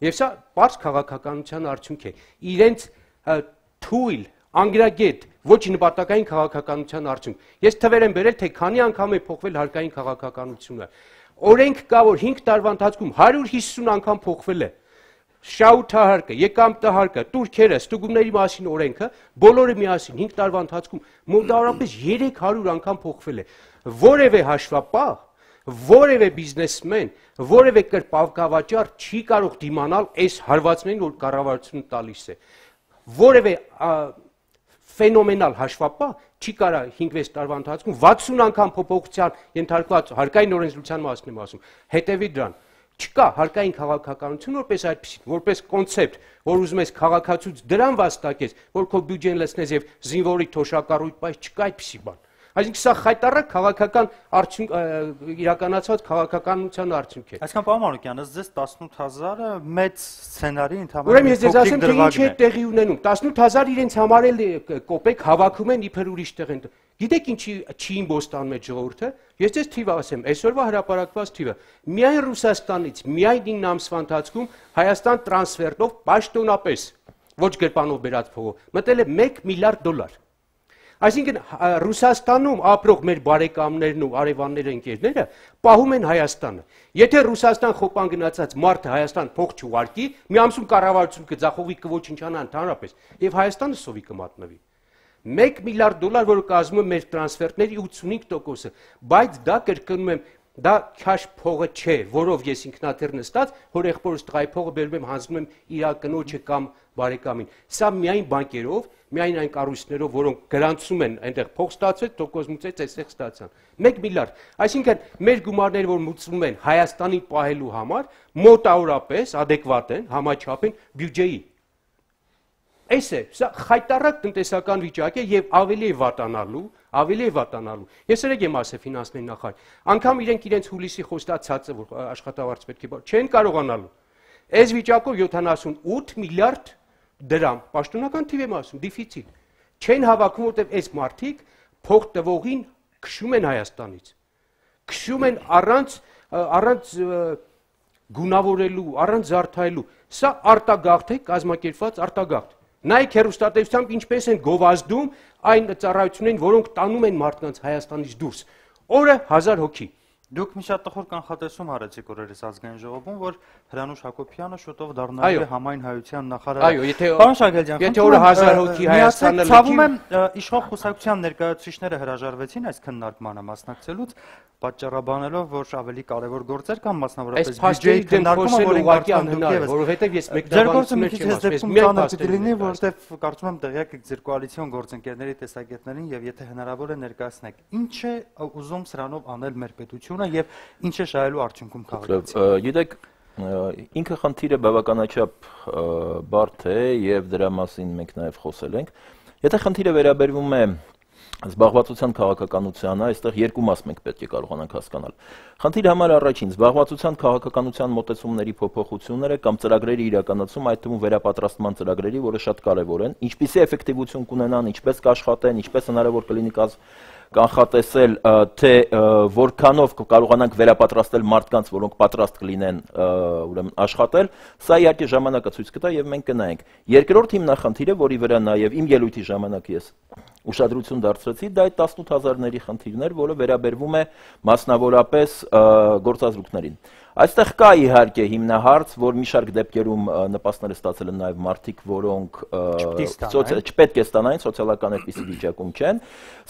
Speaker 5: Եվ սա բարձ քաղաքականության արդյունք է։ Իրենց թույլ, անգրագետ, ոչ նպատակային քաղաքականության արդյունք։ Ես թվեր եմ բերել, թե քանի անգամ է փոխվել հարկային քաղաքականությունը։ Օրենք կա, որ հինգ տարվա ընթացքում հարյուր հիսուն անգամ փոխվել է։ Շահութահարկը, եկամտահարկը, տուրքերը, ստուգումների մասին օրենքը, բոլորը միասին հինգ տարվա ընթացքում մոտավորապես երեք հարյուր անգամ փոխվել է։ Որևէ հաշվապահ, որևէ բիզնեսմեն, որևէ կրպակավաճառ չի կարող դիմանալ այս հարվածներին, որ կառավարությունը տալիս է։ Որևէ ֆենոմենալ հաշվապահ չի կարող հինգ-վեց տարվա ընթացքում վաթսուն անգամ փոփոխության ենթարկված հարկային օրենսդրության մասին եմ ասում։ Հետևի դրան։ Չկա հարկային քաղաքականություն որպես այդպեսին, որպես կոնցեպտ, որ ուզում ես քաղաքացուց դրան վաստակես, որ քո բյուջեն լցնես եւ զինվորի թոշակառույթ բայց չկա այդպեսի բան։ Այսինքն սա խայտառակ քաղաքական արդյունք իրականացված քաղաքականության արդյունք է։
Speaker 1: Այսինքն պարոն Մանուկյան, ըստ ձեզ տասնութ հազարը մեծ սցենարի ընդհանուր
Speaker 5: Ուրեմն ես ձեզ ասեմ, թե ինչ է տեղի ունենում։ տասնութ հազար իրենց համար էլ կոպեկ հավաքում են իբր ուրիշ տեղ են։ Գիտեք ինչի չի իմբոստանում այդ ժողովուրդը։ Ես ձեզ թիվ ասեմ, այսօրվա հրապարակված թիվը միայն Ռուսաստանից միայն ինը ամսվա ընթացքում Հայաստան տրանսֆերտով պաշտոնապես ոչ գրպանով բերած փողով մտել է մեկ միլիարդ դոլար։ Այսինքն Ռուսաստանում ապրող մեր բարեկամներն ու արևանները ընկերները պահում են Հայաստանը։ Եթե Ռուսաստան խոպան գնացած մարդը Հայաստան փող չուղարկի, մի ամսում կառավարություն կձախողի կոչնչանա ընդհանրապես, եւ Հայաստանը սովի կմատնվի։ մեկ միլիարդ դոլար, որը կազմում է մեր տրանսֆերտների ութսունհինգ տոկոսը, բայց դա կրկնում եմ, դա քաշ փողը չէ, որով ես ինքնաթիռ նստած, հորեղբորս տղայի փողը բերում եմ հանձնում եմ իր կնոջը կամ բարեկամին։ Սա միայն բանկերով, միայն այն կառույցներով, որոնք գրանցում են այնտեղ փող ստացվեց, տոկոս մուծեց, այստեղ ստացան։ մեկ միլիարդ։ Այսինքն մեր գումարները, որ մուծվում են Հայաստանի պահելու համար, մոտավորապես adekvat են, համաչափ են բյուջեի։ Այս է, սա խայտառակ տնտեսական վիճակ է եւ ավելի է վատանալու, ավելի է վատանալու։ Ես երեք եմ ասել ֆինանսների նախարար, անգամ իրենք իրենց հուլիսի խոստացածը, որ աշխատավարձ պետք է բար, չեն կարողանալու։ Այս վիճակով յոթանասունութ միլիարդ դրամ, պաշտոնական թիվ եմ ասում, դիֆիցիտ։ Չեն հավաքում, որտեղ այս մարդիկ փող տվողին քշում են Հայաստանից։ Քշում են առանց առանց գունավորելու, առանց զարդայելու։ Սա արտագաղթ է, կազմակերպված արտագաղթ։ Նայեք հեռուստատեսությամբ ինչպես են գովազդում այն ծառայություններին, որոնք տանում են մարդկանց Հայաստանից դուրս։ Օրը հազար հոգի։
Speaker 1: Դուք մի շատ տխուր կանխատեսում արեցիք օրերս ազգային ժողովում, որ Հրանուշ Հակոբյանը շուտով դառնալու է համայն հայության նախարար։
Speaker 5: Այո, եթե
Speaker 1: Պարոն Շարգելյան,
Speaker 5: եթե օրը հազար հոգի Հայաստանը
Speaker 1: ցավում եմ իշխող կուսակցության ներկայացուցիչները հրաժարվեցին այս քննարկմանը մասնակցելուց, պատճառաբանելով, որ ավելի կարևոր գործեր կան, մասնավորապես բյուջեի քննարկումը, որը ուղղակի
Speaker 5: անհնար է, որովհետև ես
Speaker 1: մեկնաբանություններ չեմ ասում, միայն դեպքում որովհետև կարծում եմ տեղյակ եք ձեր կոալիցիոն գործընկերների տեսակետներին եւ եթե հնարավոր է ներկայացնեք, ինչ է ուզում սրանով անել մեր պետությունը եւ ինչ է շահելու արդյունքում քաղաքացիները։
Speaker 6: Գիտեք, ինքը խնդիրը բավականաչափ բարդ է եւ դրա մասին մենք նաեւ խոսել ենք։ Եթե խնդիրը վերաբերվում է զբաղվածության քաղաքականությանը, այստեղ երկու մաս մենք պետք է կարողանանք հասկանալ։ Խնդիրը համար առաջին զբաղվածության քաղաքականության մոտեցումների փոփոխությունները կամ ծրագրերի իրականացում, այդ թվում վերապատրաստման ծրագրերի, որը շատ կարևոր են, ինչպիսի էֆեկտիվություն կունենան, ինչպես կաշխատեն, ինչպես հնարավոր կլինի կանխատեսել, թե որքանով կարողանանք վերապատրաստել մարդկանց, որոնք պատրաստ կլինեն ուրեմն աշխատել, սա իհարկե ժամանակը ցույց կտա եւ մենք կնայենք։ Երկրորդ հիմնախնդիրը, որի վրա նաեւ իմ ելույթի ժամանակ ես ուշադրություն դարձրեցի, դա այդ տասնութ հազարների խնդիրներ, որը վերաբերվում է մասնավորապես գործազրույցներին։ Այստեղ կա իհարկե հիմնահարց, որ մի շարք դեպքերում նպաստները ստացել են նաև մարդիկ, որոնք չպետք է ստանային, սոցիալական այդպիսի վիճակում չեն։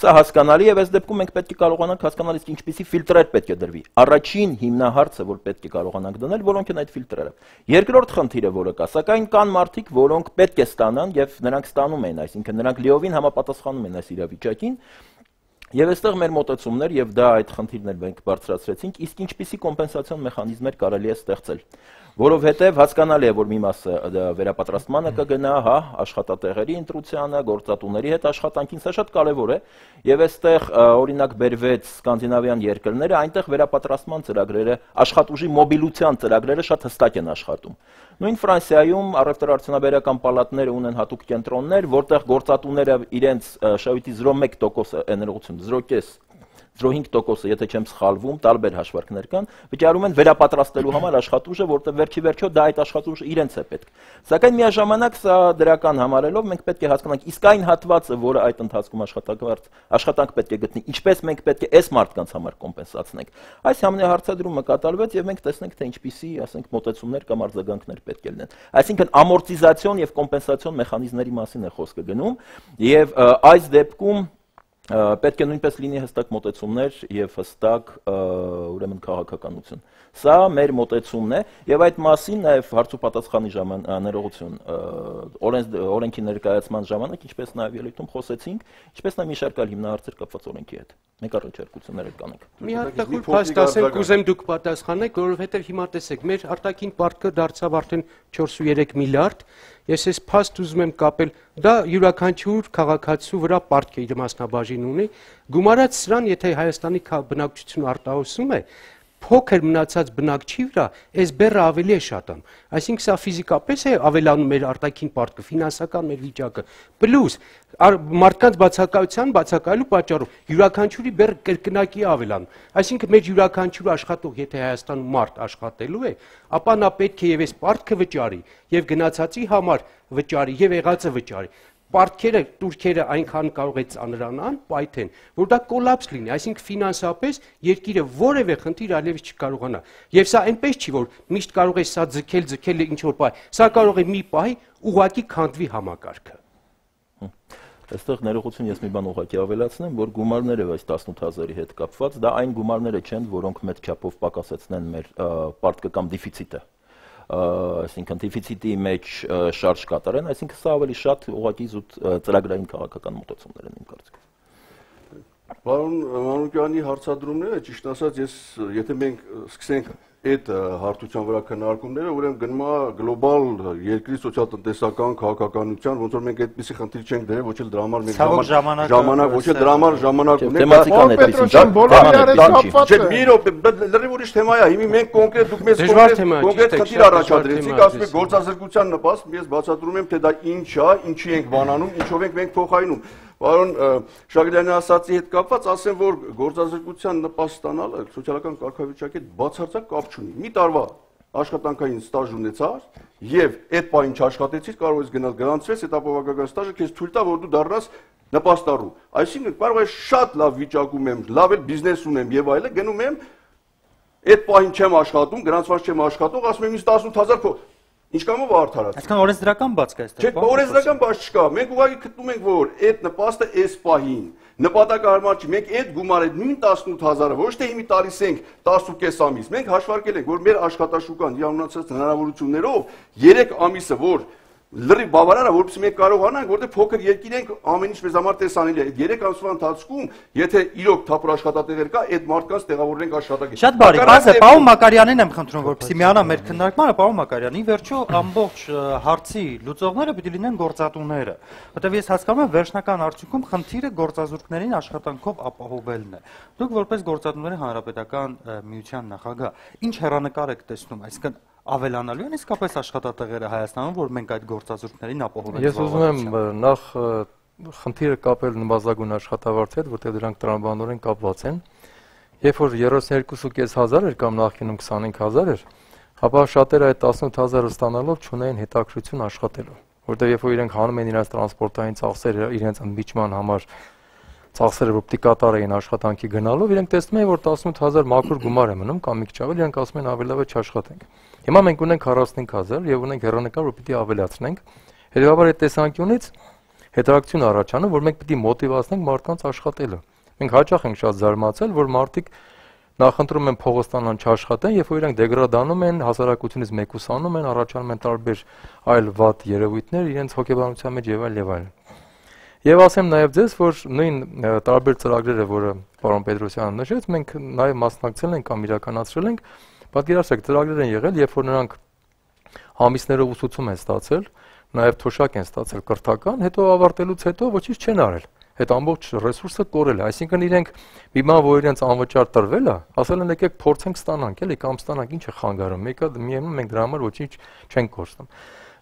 Speaker 6: Սա հասկանալի է, եւ այս դեպքում մենք պետք է կարողանանք հասկանալ իսկ ինչպիսի ֆիլտրեր պետք է դրվի։ Առաջին հիմնահարցը, որ պետք է կարողանանք դնել, որոնք են այդ ֆիլտրերը։ Երկրորդ խնդիրը, որը կա, սակայն կան մարդիկ, որոնք պետք է ստանան եւ նրանք ստանում են, այսինքն նրանք լիովին համապատասխանում են այս իրավիճակին։ Եվ այստեղ մեր մոտեցումներ եւ դա այդ խնդիրներ մենք բարձրացրեցինք, իսկ ինչպիսի կոմպենսացիոն մեխանիզմներ կարելի է ստեղծել, որովհետեւ հասկանալի է, որ մի մասը վերապատրաստմանը կգնա, հա, աշխատատեղերի ընտրությանը, գործատուների հետ աշխատանքին, սա շատ կարեւոր է, եւ այստեղ օրինակ բերվեց սկանդինավյան երկրները, այնտեղ վերապատրաստման ծրագրերը, աշխատուժի մոբիլության ծրագրերը շատ հստակ են աշխատում։ Նույն Ֆրանսիայում առևտրաարդյունաբերական պալատները ունեն հատուկ կենտրոններ, որտեղ գործատուները իրենց շահույթի զրո մեկ տոկոս ներողություն, զրո կես, զրո հինգ տոկոսը, եթե չեմ սխալվում, տարբեր հաշվարկներ կան, վճարում են վերապատրաստելու համար աշխատուժը, որտեղ վերջի վերջո դա այդ աշխատուժը իրենց է պետք։ Սակայն միաժամանակ սա դրական համարելով մենք պետք է հասկանանք իսկ այն հատվածը, որը այդ ընթացքում աշխատակարդ աշխատանք պետք է գտնի, ինչպես մենք պետք է այս մարդկանց համար կոմպենսացնենք։ Այս համնեհարցադրումը կատարվեց եւ մենք տեսնենք թե ինչպիսի, ասենք, մոտեցումներ կամ արձագանքներ պետք է լինեն։ Այսինքն ամորտիզացիոն եւ կոմպենսացիոն մեխանիզմների մասին է խոսքը գնում եւ այս դեպքում պետք է նույնպես լինի հստակ մոտեցումներ եւ հստակ ուրեմն քաղաքականություն։ Սա մեր մոտեցումն է եւ այդ մասին նաեւ հարցու պատասխանի ժամանակներողություն օրենքի ներկայացման ժամանակ, ինչպես նաեւ ելույթում խոսեցինք, ինչպես նաեւ մի շարք այլ հիմնահարցեր կապված օրենքի հետ։ Մենք առաջարկություններ կանենք։
Speaker 5: Մի հատ տխուր փաստ ասեմ, կուզեմ դուք պատասխանեք, որովհետեւ հիմա տեսեք, մեր արտաքին պարտքը դարձավ արդեն չորսունյոթ միլիարդ։ Ես այս փաստ ուզում եմ կապել, դա յուրաքանչյուր քաղաքացու վրա պարտք է իր մասնաբաժին ունի, գումարած սրան, եթե Հայաստանի բնակչությունը արտահոսում է, փոքր մնացած բնակչի վրա այս բեռը ավելի է շատանում։ Այսինքն սա ֆիզիկապես է ավելանում մեր արտաքին պարտքը, ֆինանսական մեր վիճակը, պլյուս մարդկանց բացակայության բացակայելու պատճառով յուրաքանչյուրի բեռը կրկնակի է ավելանում։ Այսինքն մեր յուրաքանչյուր աշխատող, եթե Հայաստանում մարդ աշխատելու է, ապա նա պետք է եւ այս պարտքը վճարի, եւ գնացածի համար վճարի, եւ եղածը վճարի։ պարտքերը, турքերը այնքան կարող է ծանրանան, պայթեն, որ դա կոլապս լինի, այսինքն ֆինանսապես երկիրը որևէ խնդիր այլևս չկարողանա։ Եվ սա այնպես չի, որ միշտ կարող է սա ձգել, ձգել ինչ որ պահ, սա կարող է մի պահի ուղղակի քանդվի համակարգը։
Speaker 6: Այստեղ ներողություն ես մի բան ուղղակի ավելացնեմ, որ գումարները այս տասնութ հազարի հետ կապված, դա այն գումարները չեն, որոնք մեծ չափով պակասեցնեն մեր պարտքը կամ դեֆիցիտը։ Այսինքն դեֆիցիտի մեջ շարժ կատարեն, այսինքն սա ավելի շատ ուղղակի զուտ ծրագրային քաղաքական մոտեցումներ են իմ կարծիքով։
Speaker 2: Պարոն Մանուկյանի հարցադրումները, ճիշտ ասած, ես եթե մենք սկսենք այդ հարթության վրա քննարկումները, ուրեմն գնում է գլոբալ երկրի սոցիալ-տնտեսական քաղաքականության, ոնց որ մենք այդպիսի խնդիր չենք դրել, ոչ էլ դրա համար մենք ժամանակ, ոչ էլ դրա համար ժամանակ ունենք։
Speaker 6: Թեմատիկան այդպեսին չէ։
Speaker 2: Չէ, մի րոպե, լրիվ ուրիշ թեմա է։ Հիմա մենք կոնկրետ դուք մեզ կոնկրետ խնդիր առաջադրեցիք, ասում եք գործազրկության նպաստ, ես բացատրում եմ, թե դա ինչ է, ինչի ենք բանանում, ինչով ենք մենք փոխարինում։ Պարոն Շագրյանի ասացի հետ կապված ասեմ, որ գործազրկության նպաստ ստանալը սոցիալական կարգավիճակի հետ բացարձակ կապ չունի։ Մի տարվա աշխատանքային ստաժ ունեցար եւ այդ պահին չաշխատեցիր, կարող ես գնալ գրանցվես, այդ ապահովական ստաժը քեզ թույլ տա, որ դու դառնաս նպաստառու։ Այսինքն կարող է շատ լավ վիճակում եմ, լավ էլ բիզնես ունեմ եւ այլը, գնում եմ այդ պահին չեմ աշխատում, գրանցված չեմ աշխատող, ասում եմ ինձ տասնութ հազար Ինչ կամով արդարացի։
Speaker 1: Այսինքն օրենսդրական բաց կա այստեղ։
Speaker 2: Չէ, օրենսդրական բաց չկա։ Մենք ուղղակի գտնում ենք, որ այդ նպաստը այս պահին նպատակահարմար չի։ Մենք այդ գումարը նույն տասնութ հազարը ոչ թե հիմի տալիս ենք տասնուկես ամիս։ Մենք հաշվարկել ենք, որ մեր աշխատաշուկան իրանունացած հնարավորություններով երեք ամիսը, որ լրիվ բավարար է, որովհետեւ մենք կարողանանք, որտեղ փոքր երկիր ենք, ամեն ինչ մեզ համար տեսանելի է։ Այդ երեք ամսվա ընթացքում, եթե իրոք թափուր աշխատատեղեր կա, այդ մարդկանց տեղավորենք աշխատակից։
Speaker 1: Շատ բարի, բացը պարոն Մակարյանին եմ խնդրում, որպեսզի միանա մեր քննարկմանը, պարոն Մակարյան, ի վերջո ամբողջ հարցի լուծողները պիտի լինեն գործատուները, որտեղ ես հասկանում եմ, վերջնական արդյունքում խնդիրը գործազուրկներին աշխատանքով ապահովելն է։ Դուք որպես գործատուների հանրապետական միության նախագահ, ինչ հեռանկար եք տեսնում, այսինքն ավելանալու են իսկապես աշխատատեղերը Հայաստանում, որ մենք այդ գործազուրկներին ապահովենք։
Speaker 7: Ես ուզում եմ նախ խնդիրը կապել նվազագույն աշխատավարձի հետ, որտեղ դրանք տրամաբանորեն կապված են։ Երբ որ երեսունյոթ հազար էր կամ նախկինում քսանհինգ հազար էր, ապա շատերը այդ տասնութ հազարը ստանալով չունեին հետաքրքրություն աշխատելու, որտեղ երբ որ իրենք հանում են իրենց տրանսպորտային ծախսերը, իրենց ընդմիջման համար ծախսերը որ պիտի կատարեին աշխատանքի գնալով, իրենք տեսնում են, որ տասնութ հազար մաքուր գումար է մնում կամ մի քիչ ավել, իրենք ասում են ավելի լավ է չաշխատենք։ Հիմա մենք ունենք քառասունհինգ հազար եւ ունենք հեռանկար, որ պիտի ավելացնենք։ Հետևաբար այդ տեսանկյունից հետաքրքրություն առաջանում, որ մենք պիտի մոտիվացնենք մարդկանց աշխատելը։ Մենք հաճախ ենք շատ զարմացել, որ մարդիկ նախընտրում են փողը ստանան չաշխատեն, երբ որ իրենք դեգրադանում են, հասարակությունից մեկուսանում են, առաջանում են տարբեր այլ վատ երևույթներ իրենց հոգեբանության մեջ եւ այլ եւ այլ։ Եվ ասեմ նաև ձեզ, որ նույն տարբեր ծրագրերը, որը պարոն Պետրոսյանը նշեց, մենք նաև մասնակցել ենք կամ իրականացրել ենք, պատկերացրեք, ծրագրեր են եղել, երբ որ նրանք ամիսներով ուսուցում են ստացել, նաև թոշակ են ստացել կրթական, հետո ավարտելուց հետո ոչինչ չեն արել։ Այդ ամբողջ ռեսուրսը կորել է, այսինքն իրենք մի բան, որ իրենց անվճար տրվել է, ասել են եկեք փորձենք ստանանք, էլի կամ ստանանք, ինչ է խանգարում, մեկը միևնույն մենք դրա համար ոչինչ չենք կորցնում։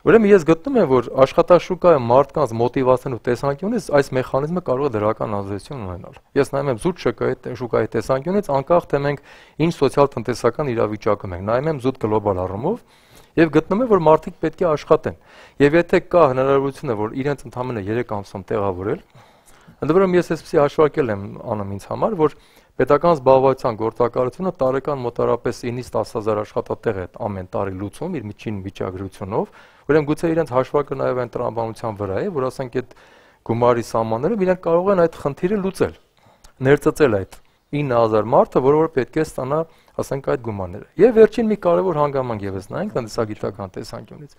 Speaker 7: Ուրեմն ես գտնում եմ, որ աշխատաշուկայի մարդկանց մոտիվացնելու տեսանկյունից այս մեխանիզմը կարող է դրական ազդեցություն ունենալ։ Ես նայում եմ զուտ շուկայի շուկայի տեսանկյունից, անկախ թե մենք ինչ սոցիալ-տնտեսական իրավիճակում ենք, նայում եմ զուտ գլոբալ առումով եւ գտնում եմ, որ մարդիկ պետք է աշխատեն։ Եվ եթե կա հնարավորությունը, որ իրենց ընդամենը երեք ամսում տեղավորել, ընդ որում ես այսպեսի հաշվարկել եմ անում ինձ համար, որ պետական զբաղվածության գործակալությունը տարեկան մոտարապես ինից տասը հազար աշխատատեղ է ամեն տարի լուծում իր միջին վիճակագրությունով, ուրեմն գուցե իրենց հաշվարկը նաև այն տրամաբանության վրա է, որ ասենք այդ գումարի սահմաններով իրենք կարող են այդ խնդիրը լուծել, ներծծել այդ ինը հազար մարդը, որը որ պետք է ստանա, ասենք այդ գումարները։ Եվ վերջին մի կարևոր հանգամանք եւս նայենք տնտեսագիտական տեսանկյունից։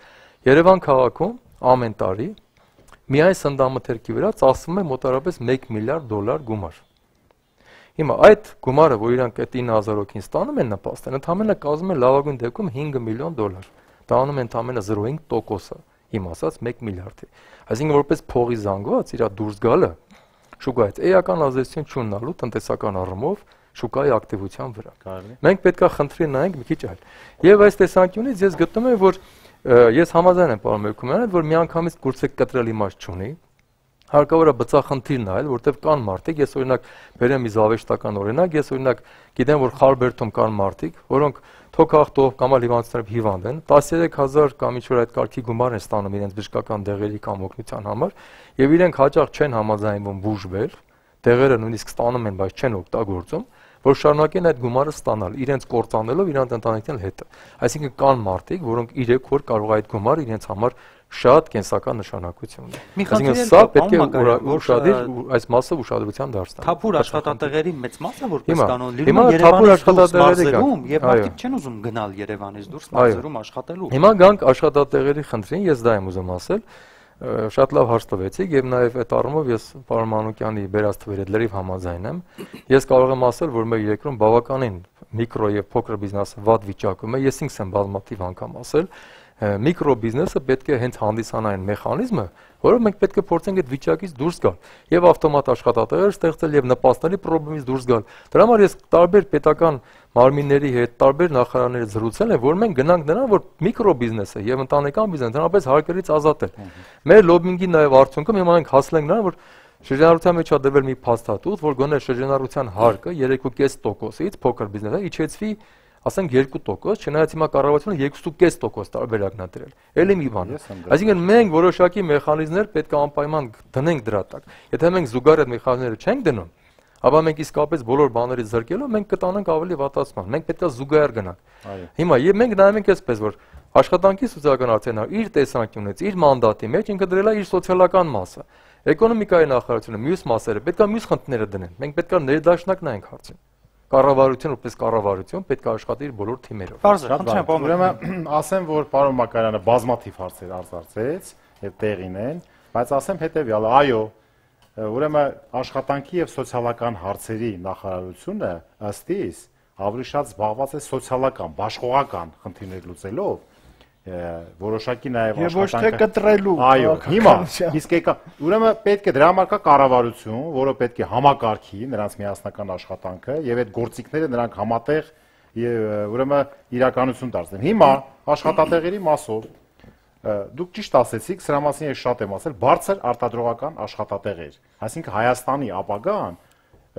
Speaker 7: Երևան քաղաքում ամեն տարի միայն սննդամթերքի վրա ծախսվում է մոտարապես մեկ միլիարդ դոլար գումար։ Հիմա այդ գումարը, որ իրանք այդ ինը հազար հոգին ստանում են նպաստեն, ընդհանրապես կազմում է լավագույն դեպքում հինգ միլիոն դոլար։ Դա անում է ընդհանրապես զրո հինգ տոկոսը, իմ ասած մեկ միլիարդի։ Այսինքն որպես փողի զանգված իր դուրս գալը շուկայից էական ազդեցություն չունենալու տնտեսական առումով շուկայի ակտիվության վրա։ Մենք պետքա խնդրի նայենք մի քիչ այլ։ Եվ այս տեսանկյունից ես գտնում եմ, որ ես համաձայն եմ պարոն Մերկումյանը, որ միանգամից կուրսը կտրել իմաստ չունի։ Հարկավոր է բծախնդիր նայել, որտեղ կան մարդիկ, ես օրինակ բերեմ մի զավեշտական օրինակ, ես օրինակ գիտեմ, որ Խարբերդում կան մարդիկ, որոնք թոքախտով կամ հիվանդություններով հիվանդ են, տասնյակ հազար կամ ինչ-որ այդ կարգի գումար են ստանում իրենց բժշկական դեղերի կամ օգնության համար, եւ իրենք հաճախ չեն համաձայնվում բուժվել, դեղերը նույնիսկ ստանում են, բայց չեն օգտագործում, որ շարունակեն այդ գումարը ստանալ, իրենց կործանելով իրանց ընտանիքն հետը։ Այսինքն կան մարդիկ, որոնք իրենք որ կարող է այդ գումարը իրենց համար շատ կենսական նշանակություն ունի։ Այսինքն սա պետք է ուշադիր այս մասը ուշադրության դարձնել։
Speaker 1: Թափուր աշխատատեղերի մեծ մասը որպես կանոն լինում
Speaker 7: է
Speaker 1: Երևանից դուրս մարզերում եւ մարդիկ չեն ուզում գնալ Երևանից դուրս մարզերում աշխատելու։
Speaker 7: Հիմա գանք աշխատատեղերի խնդրին, ես դա եմ ուզում ասել։ Շատ լավ հարց տվեցիք եւ նաեւ այդ առումով ես պարոն Մանուկյանի բերած թվերի հետ լրիվ համաձայն եմ։ Ես կարող եմ ասել, որ մեր երկրում բավականին միկրո եւ փոքր բիզնեսը վատ վիճակում է։ Ես ինքս եմ բազմաթիվ անգամ ասել, միկրո բիզնեսը պետք է հենց հանդիսանա այն մեխանիզմը, որով մենք պետք է փորձենք այդ վիճակից դուրս գալ եւ ավտոմատ աշխատատեղեր ստեղծել եւ նպաստների խնդրից դուրս գալ։ Դրա համար ես տարբեր պետական մարմինների հետ, տարբեր նախարարների զրուցել եմ, որ մենք գնանք նրան, որ միկրո բիզնեսը եւ ընտանեկան բիզնեսը հնարավորինս հարկերից ազատել։ Մեր լոբինգի նաեւ արդյունքում հիմա մենք հասել ենք նրան, որ շրջանառության մեջ ադրվել մի փաստաթուղթ, որ գոնե շրջանառության հարկը երեք կόμμα պենս տոկոսից փոքր բիզնեսը իջեցվի, ասենք երկու տոկոս, չնայած հիմա կառավարությունը երկու կόμμα պենս տոկոս տարբերակն է դրել։ Էլի մի բան։ Այսինքն մենք որոշակի մեխանիզմներ պետք է անպայման դնենք դրա տակ։ Եթե մենք զուգահեռ այդ մեխանիզմները չենք դնում, ապա մենք իսկապես բոլոր բաներից զրկելով մենք կտանենք ավելի վատացման։ Մենք պետք է զուգահեռ գնանք։ Հիմա եւ մենք նայում ենք այսպես, որ աշխատանքի սոցիալական արդյունքները իր տեսանկյունից, իր մանդատի մեջ ինքը դրել է իր սոցիալական մասը։ Էկոնոմիկայի նախարարությունը մյուս մասերը պետք է մյուս խնդիրները դնեն։ Մենք պետք է ներդաշնակ նայենք հարցին։ Կառավարություն որպես կառավարություն պետք է աշխատի իր բոլոր թիմերով։
Speaker 1: Բարձր, խնդրեմ,
Speaker 4: ուրեմն ասեմ, որ պարոն Մակարյանը բազմաթիվ հարցեր արձարծեց եւ տեղին են, բայց ասեմ հետեւյալը, այո, ուրեմն աշխատանքի եւ սոցիալական հարցերի նախարարությունը ըստ իս ավելի շատ զբաղված է սոցիալական, բաշխողական խնդիրներ լուծելով, որոշակի նաեւ
Speaker 3: աշխատանքը եւ ոչ թե կտրելու։
Speaker 4: Այո, հիմա իսկ եկա, ուրեմն պետք է դրա համար կա կառավարություն, որը պետք է համակարգի նրանց միասնական աշխատանքը եւ այդ գործիքները նրանք համատեղ եւ ուրեմն իրականություն դարձնեն։ Հիմա աշխատատեղերի մասով դուք ճիշտ ասեցիք, սրա մասին ես շատ եմ ասել, բարձր արտադրողական աշխատատեղեր, այսինքն Հայաստանի ապագան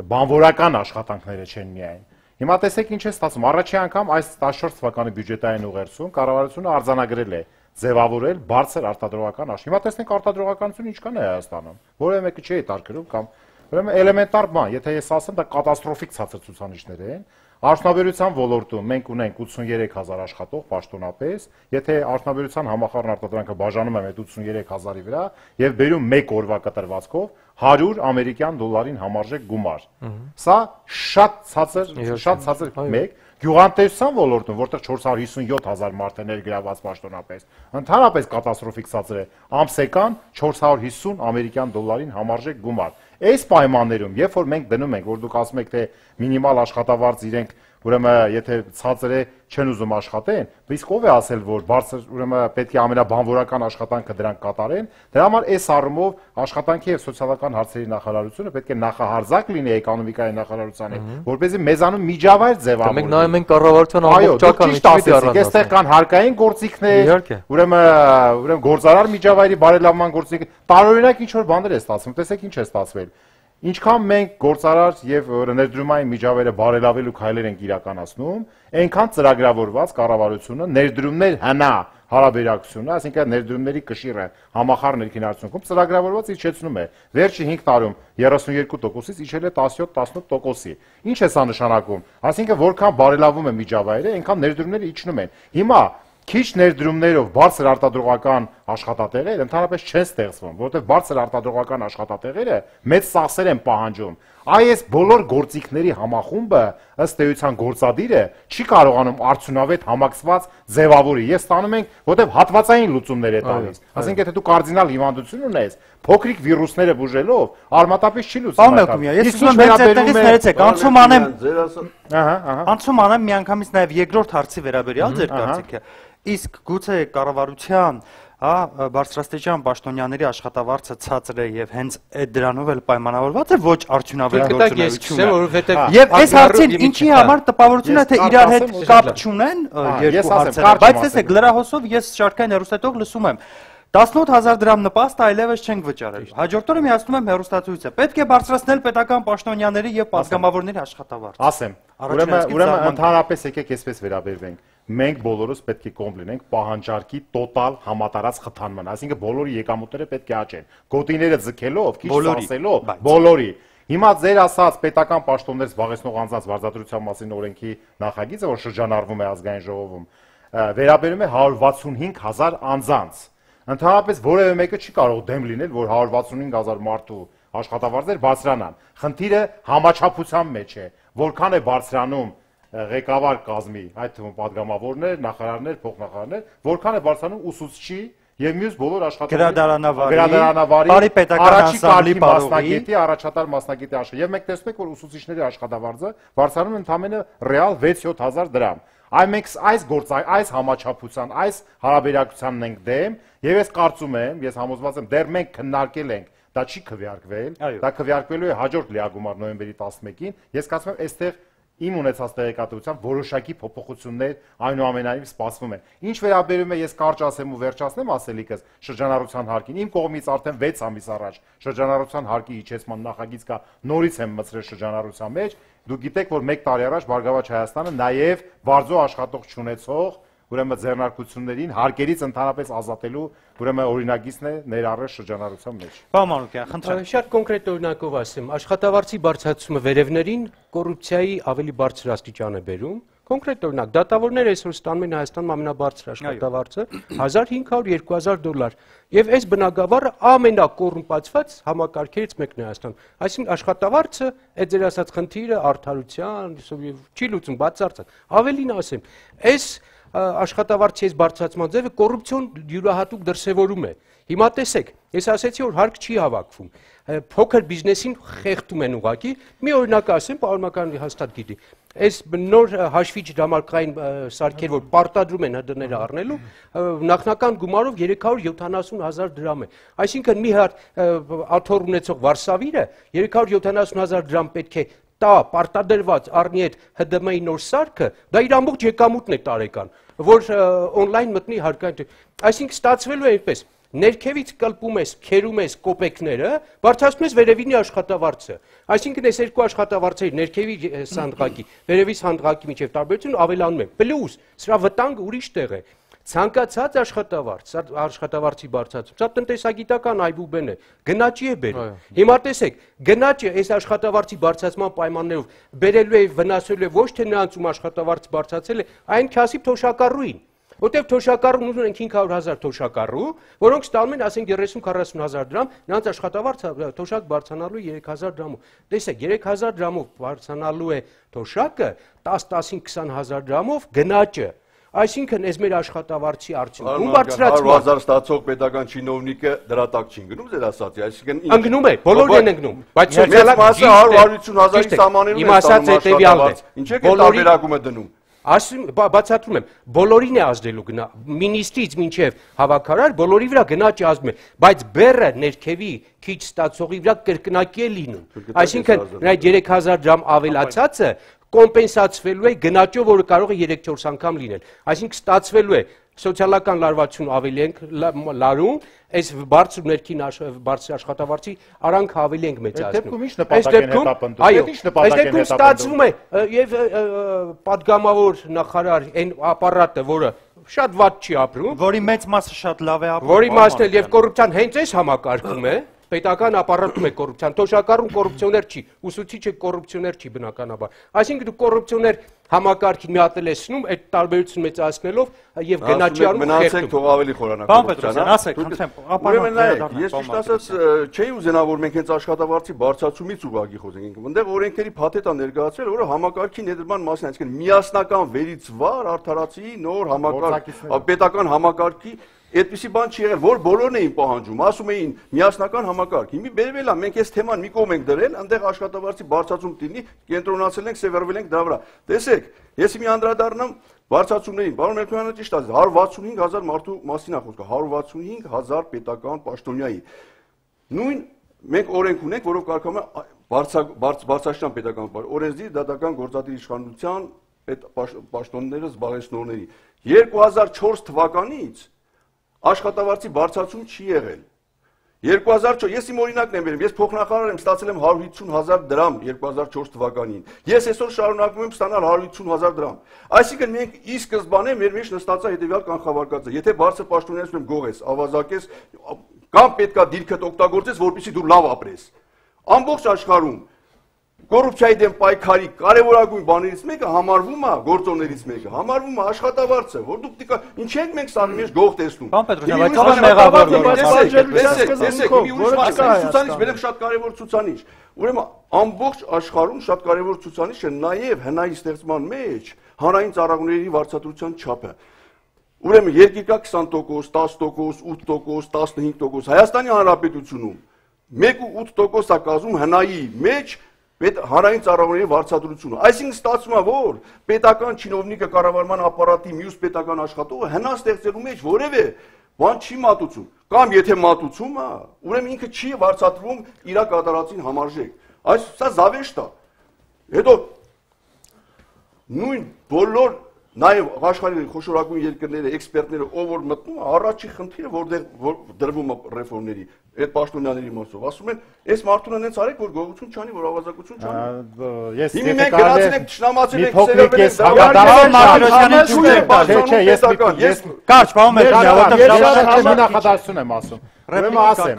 Speaker 4: բանվորական աշխատանքները չեն միայն։ Հիմա տեսեք ինչ է ստացվում, առաջի անգամ այս տասնչորս թվականի բյուջետային ուղերձում կառավարությունը արձանագրել է ձևավորել բարձր արտադրողական աշխարհ։ Հիմա տեսնենք արտադրողականությունը ինչքան է Հայաստանում, որևէ մեկը չի հետարկրում կամ ուրեմն էլեմենտար բան, եթե ես ասեմ, դա կատաստրոֆիկ ցածր ցուցանիշներ են։ Արդյունաբերության ոլորտում մենք ունենք ութսուներեք հազար աշխատող պաշտոնապես, եթե արդյունաբերության համախառն արտադրանքը բաժանում եմ այդ ութսուներեք հազարի վրա եւ բերում մեկ օրվա կտրվածքով հարյուր ամերիկյան դոլարին համարժեք գումար։ Սա շատ ցածր, շատ ցածր մեկ գյուղատնտեսության ոլորտում, որտեղ չորս հարյուր հիսունյոթ հազար մարդ է ներգրաված պաշտոնապես, ընդհանրապես կատաստրոֆիկ ցածր է, ամսեկան չորս հարյուր հիսուն ամերիկյան դոլարին համարժեք գումար։ Այս պայմաններում, երբ որ մենք դնում ենք, որ դուք ասում եք, թե մինիմալ աշխատավարձ իրենք, ուրեմն եթե ցածր է, չեն ուզում աշխատեն, իսկ ով է ասել, որ բարձր, ուրեմն պետք է ամենաբանվորական աշխատանքը դրանք կատարեն, դրա համար այս առումով աշխատանքի եւ սոցիալական հարցերի նախարարությունը պետք է նախահարձակ լինի էկոնոմիկայի նախարարությանը, որպեսզի մեզանում միջավայր ձևավորվի։
Speaker 7: Մենք նայում ենք կառավարության ամբողջական
Speaker 4: միջավայրը, այստեղ կան հարկային գործիքներ, ուրեմն ուրեմն գործարար միջավայրի բարելավման գործիք, տարօրինակ ինչ որ բաներ է ստացվում, տեսեք ինչ է ստացվել։ Ինչքան մենք գործարար եւ ներդրումային միջավայրը բարելավելու քայլեր ենք իրականացնում, այնքան ծրագրավորված կառավարությունը ներդրումներ հնա հարաբերակցությունը, այսինքն ներդրումների կշիռը համախառն ներքին արդյունքում ծրագրավորված իջեցնում է։ Վերջի հինգ տարում երեսունյոթ տոկոսից իջել է տասնյոթ տասնութ տոկոսի։ Ինչ է սա նշանակում։ Այսինքն որքան բարելավում է միջավայրը, այնքան ներդրումները իջնում են։ Հիմա քիչ ներդրումներով բարձր արտադրողական աշխատատեղեր ընդհանրապես չեն ստեղծվում, որովհետև բարձր արտադրողական աշխատատեղերը մեծ ծախսեր են պահանջում։ Այս բոլոր գործիքների համախումբը ըստ էության գործադիրը չի կարողանում արդյունավետ համակցված ձևավորի։ Ես ստանում ենք, որովհետև հատվածային լուծումներ է տալիս։ Այսինքն եթե դու կարդինալ հիվանդություն ունես, փոքրիկ վիրուսները բուժելով, արմատապից չի լուծում։
Speaker 1: Ես ուզում եմ այդտեղից ներեցեք, անցում անեմ։ Ահա, ահա։ Անցում անեմ միանգամից նաև երկրորդ հարցի վերաբերյալ ձեր կարծիքը։ Իսկ գուցե կառավարության, հա, բարձրաստիճան պաշտոնյաների աշխատավարձը ցածր է եւ հենց այդ դրանով էլ պայմանավորված է ոչ արդյունավետ գործունեությունը։ Եվ այս հարցին ինչի համար տպավորություն է, թե իրար հետ կապ չունեն երկու հարցերը, բայց տեսեք լրահոսով ես շարքային հեռուստատող լսում եմ տասնութ հազար դրամ նպաստը այլևս չենք վճարել։ Հաջորդ օրը միացնում եմ հեռուստացույցը։ Պետք է բարձրացնել պետական պաշտոնյաների եւ պատգամավորների աշխատավարձը։
Speaker 4: Ասեմ, ուրեմն ուրեմն ընդհանրապես եկեք այսպես վերաբերվենք։ Մենք բոլորս պետք է կողմ լինենք պահանջարկի տոտալ համատարած խթանման, այսինքն բոլորի եկամուտները պետք է աճեն։ Գոտիները ձգելով, քիչ սասելով, բոլորի։ Հիմա ձեր ասած պետական պաշտոններ զբաղեցնող անձանց վարձատրության մասին օրենքի նախագիծը, որ շրջանառվում է ազգային ժողովում, վերաբերում է հարյուր վաթսունհինգ հազար անձանց։ Ընդհանրապես որևէ մեկը չի կարող դեմ լինել, որ հարյուր վաթսունհինգ հազար մարդու աշխատավարձեր բարձրանան։ Խնդիրը համաչափության մեջ է, որքան է բարձրանում ղեկավար կազմի, այդ թվում պատգամավորներ, նախարարներ, փոխնախարարներ, որքան է բարձրանում ուսուցչի եւ մյուս բոլոր աշխատողների,
Speaker 1: գրադարանավարի,
Speaker 4: առաջի կարգի մասնագետի, առաջատար մասնագետի աշխարհ։ Եվ մենք տեսնում ենք, որ ուսուցիչների աշխատավարձը բարձրանում է ընդամենը ռեալ վեց-յոթ հազար դրամ։ Այ մենք այս գործ այս համաչափության, այս հարաբերակցությանն ենք դեմ, եւ ես կարծում եմ, ես համոզված եմ, դեռ մենք քննարկել ենք, դա չի քվեարկվել, դա քվեարկվելու է հաջորդ լիագումար նոյեմբերի տասնմեկին։ Ես կարծում եմ, այստեղ իմ ունեցած տեղեկատվությամբ որոշակի փոփոխություններ այնուամենայնիվ սպասվում են։ Ինչ վերաբերում է, ես կարճ ասեմ ու վերջացնեմ ասելիքս շրջանառության հարկին, իմ կողմից արդեն վեց ամիս առաջ շրջանառության հարկի իջեցման նախագիծ կա, նորից եմ մտցրել շրջանառության մեջ։ Դուք գիտեք, որ մեկ տարի առաջ Բարգավաճ Հայաստանը նաև բարձո աշխատող չունեցող ուրեմն ձեռնարկություններին հարկերից ընդհանրապես ազատելու ուրեմն օրինագիծն է ներառել շրջանառության մեջ։
Speaker 1: Պարոն Մանուկյան, խնդրեմ։
Speaker 5: Շատ կոնկրետ օրինակով ասեմ, աշխատավարձի բարձրացումը վերևներին կոռուպցիայի ավելի բարձր աստիճան է բերում։ Կոնկրետ օրինակ, դատավորները այսօր ստանում են Հայաստանում ամենաբարձր աշխատավարձը հազար հինգ հարյուր երկու հազար դոլար։ Եվ այս բնագավառը ամենակոռումպացված համակարգերից մեկն է Հայաստանում։ Այսինքն աշխատավարձը, այդ ձեր ասած խնդիրը արդարության չի լուծում, բացարձակ։ Ավելին ասեմ, այս աշխատավարձի այս բարձրացման ձևը կոռուպցիոն յուրահատուկ դրսևորում է։ Հիմա տեսեք, ես ասեցի, որ հարկ չի հավաքվում։ Փոքր բիզնեսին խեղդում են ուղղակի։ Մի օրինակ ասեմ, պարոն Մակարյանը հաստատ գիտի։ Այս նոր հաշվիչ դրամարկղային սարքեր, որ պարտադրում են ՀԴ-ները առնելու, նախնական գումարով երեք հարյուր յոթանասուն հազար դրամ է։ Այսինքն մի հատ աթոռ ունեցող վարսավիրը երեք հարյուր յոթանասուն հազար դրամ պետք է տա պարտադրված առնի այդ ՀԴՄ-ի նոր սարքը, դա իր ամբողջ եկամուտն է տարեկան, որ օնլայն մտնի հարկային։ Այսինքն ստացվելու է այնպես, ներքևից կլպում ես, քերում ես կոպեկները, բարձրացնում ես վերևինի աշխատավարձը։ Այսինքն այս երկու աշխատավարձերի ներքևի հանդղակի, վերևից հանդղակի միջև տարբերությունը ավելանում է։ Պլյուս, սրա վտանգը ուրիշ տեղ է։ Ցանկացած աշխատավարձ, աշխատավարձի բարձրացում, սա տնտեսագիտական այբուբեն է, գնաճի է բերում։ Հիմա տեսեք, գնաճը այս աշխատավարձի բարձրացման պայմաններով բերելու է վնասելու է ոչ թե նրանց ում աշխատավարձ բարձրացել է, այն քասիբ թոշակառուին։ Որտեւ թոշակառուն ուզում ենք հինգ հարյուր հազար թոշակառու, որոնք ստանում են, ասենք երեսուն քառասուն հազար դրամ, նրանց աշխատավարձը թոշակ բարձրանալու երեք հազար դրամով։ Տեսեք, երեք հազար դրամով բարձրանալու է թոշակը, տաս տասին քսան հազար դրամով գնաճը։ Այսինքն այս մեր աշխատավարձի արդյունքում բարձրացման
Speaker 2: հազար ստացող պետական չինովնիկը դրա տակ չի ընկնում, ձեր ասածի, այսինքն
Speaker 5: ընկնում է, բոլորն են ընկնում, բայց
Speaker 2: սոցիալական մասը հարյուր հարյուրություն հազարի սահմաններում
Speaker 5: է ստանում աշխատավարձ։
Speaker 2: Ինչ է տարբերակում է դնում։
Speaker 5: Ասում բացատրում եմ, բոլորին է ազդելու գնա, մինիստրից մինչև հավաքարար բոլորի վրա գնաճը ազդում է, բայց բեռը ներքևի քիչ ստացողի վրա կրկնակի է լինում։ Այսինքն այդ երեք հազար դրամ ավելացածը կոմպենսացվելու է գնաճով, որը կարող է երեք-չորս անգամ լինել։ Այսինքն ստացվելու է սոցիալական լարվածություն ավելի ենք լարում, այս բարձր ներքին բարձր աշխատավարձի արանքը ավելի ենք մեծացնում։
Speaker 4: Այս դեպքում ինչ նպատակ են հետապնդում։ Այս
Speaker 5: դեպքում ստացվում է եւ падգամավոր նախարար այն ապարատը, որը շատ վատ չի ապրում,
Speaker 1: որի մեծ մասը շատ լավ է ապրում,
Speaker 5: որի մասն էլ եւ կոռուպցիան հենց այս համակարգում է, պետական ապարատում է կոռուպցիան, թոշակառուն կոռուպցիոներ չի, ուսուցիչը կոռուպցիոներ չի բնականաբար։ Այսինքն դու կոռուպցիոներ համակարգին մի հատ էլեսնում, այդ տարբերությունը մեծացնելով եւ գնաճի առումով
Speaker 2: մնացեք թող ավելի խորանալ։
Speaker 1: Պարոն Պետրոսյան, ասեք, խնդրեմ,
Speaker 2: ապարատը ես ճիշտ ասած չէի ուզենա, որ մենք հենց աշխատավարձի բարձրացումից ուղղակի խոսենք։ Այնտեղ օրենքների փաթեթ է ներկայացվել, որը համակարգի ներդրման մասին, այսինքն միասնական վերից վար արդարացի նոր համակարգ, պետական համակարգի այդպիսի բան չի եղել, որ բոլորն էին պահանջում, ասում էին միասնական համակարգ։ Հիմա բերվել է, մենք այս թեման մի կողմ ենք դրել, այնտեղ աշխատավարձի բարձրացում տինի, կենտրոնացել ենք, սևեռվել ենք դրա վրա։ Տեսեք, ես մի անդրադառնամ բարձրացումներին, պարոն Մելքոյանը ճիշտ ասաց, հարյուր վաթսունհինգ հազար մարդու մասին է խոսքը, հարյուր վաթսունհինգ հազար պետական պաշտոնյայի։ Նույն մենք օրենք ունենք, որով կարգավորվում է բարձրաստիճան պետական օրենսդիր դատական գործադիր իշխանության այդ պաշտոնները զբաղեցնողների։ երկու հազար չորս թվականից աշխատավարձի բարձրացում չի եղել։ երկու հազար չորս ես իմ օրինակն եմ վերում, ես փոխնախարար եմ, ստացել եմ հարյուր հիսուն հազար դրամ երկու հազար չորս թվականին։ Ես այսօր շարունակում եմ ստանալ հարյուր հիսուն հազար դրամ։ Այսինքն մենք ի սկզբանե մեր մեջ նստած է հետեւյալ կանխավարկածը, եթե բարձր պաշտոնյաներում եմ գողես, ավազակես կամ պետքա դիրքդ օգտագործես, որպեսզի դու լավ ապրես։ Ամբողջ աշխարհում կոռուպցիայի դեմ պայքարի կարևորագույն բաներից մեկը համարվում է գործոններից մեկը, համարվում է աշխատավարձը, որ դուք դիկա ինչ ենք մենք սա մեջ գող տեսնում։
Speaker 1: Պարոն Պետրոսյան, բայց ո՞ր մեղավոր
Speaker 2: բերեմ շատ կարևոր ցուցանիշ։ Ուրեմն ամբողջ աշխարհում շատ կարևոր ցուցանիշ է նաև հնայի ստեղծման մեջ հանրային ծառայությունների վարձատրության չափը։ Ուրեմն երկիր կա քսան տոկոս, տասը տոկոս, ութ տոկոս, տասնհինգ տոկոս, Հայաստանի Հանրապետությունում մեկ ու ութ տոկոս է կազմում հնայի մեջ Պետ հանրային ծառայությունների վարձատրությունը, այսինքն ստացվում է, որ պետական չինովնիկը կառավարման ապարատի մյուս պետական աշխատողը հնա ստեղծելու մեջ որևէ բան չի մատուցում, կամ եթե մատուցում է, ուրեմն ինքը չի վարձատրվում իր կատարածին համարժեք։ Այս սա զավեշտ է։ Հետո նույն բոլոր նաև աշխարհի խոշորագույն երկրները, էքսպերտները, ով որ մտնում է, առաջի խնդիրը որտեղ դրվում է ռեֆորմների, այդ պաշտոնյաների մասով, ասում են, այս մարդուն հենց արեք, որ գողություն չանի, որ ավազակություն չանի։
Speaker 4: Ես
Speaker 2: Հիմա մենք գնացել ենք, ճշնամացել ենք,
Speaker 4: սերվել ենք,
Speaker 1: Կարճ, պարոն
Speaker 4: Պետրոսյան, նախադասություն եմ ասում։ Ուրեմն ասեմ,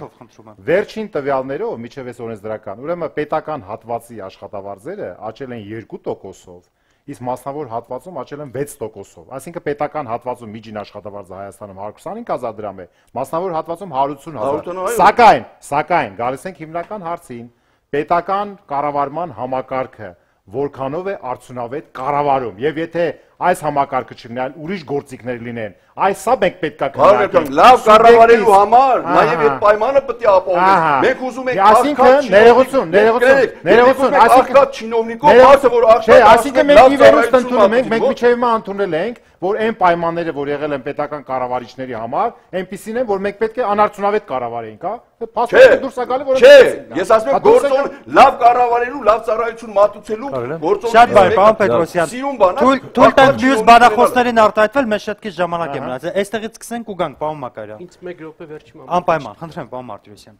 Speaker 4: վերջին տվյալներով միջև այս օրենսդրական, ուրեմն պետական հատվածի աշխատավարձերը աճել են երկու տոկոսով, իսկ մասնավոր հատվածում աճել են վեց տոկոսով։ Այսինքն պետական հատվածում միջին աշխատավարձը Հայաստանում հարյուր քսանհինգ հազար դրամ է, մասնավոր հատվածում հարյուր ութսուն հազար։ Սակայն, սակայն գալիս ենք հիմնական հարցին, պետական կառավարման համակարգը որքանով է արդյունավետ կառավարում, եւ եթե այս համակարգը չլինի, այլ ուրիշ գործիքներ լինեն, այս սա մենք պետքա
Speaker 2: քննարկենք։ Լավ կառավարելու համար նաև այդ պայմանը պետք է ապահովենք։ Մենք ուզում ենք
Speaker 4: այսինքն ներողություն, ներողություն, ներողություն,
Speaker 2: այսինքն չինովնիկով բացը որ
Speaker 4: աղքատ, այսինքն մենք ի վերուստ ընդունում ենք, մենք միջև հիմա ընդունել ենք, որ այն պայմանները, որ եղել են պետական կառավարիչների համար, այնպիսին են, որ մենք պետք է անարդյունավետ կառավարենք, հա։ Փաստորեն դուրս է գալի, որ
Speaker 2: չէ, ես ասում եմ գործոն լավ կառավարելու, լավ ծառայություն մատուցելու գործոններից
Speaker 1: շատ բարի, պարոն Պետրոսյան, թույլ տանք մյուս բանախոսներին արտահայտվել, մեզ շատ քիչ ժամանակ է մնացել։ Այստեղից սկսենք ու գանք, պարոն Մակարյան։
Speaker 5: Ինձ մեկ րոպե վերջի մամուկ։
Speaker 1: Անպայման, խնդրեմ, պարոն Մարտիրոսյան։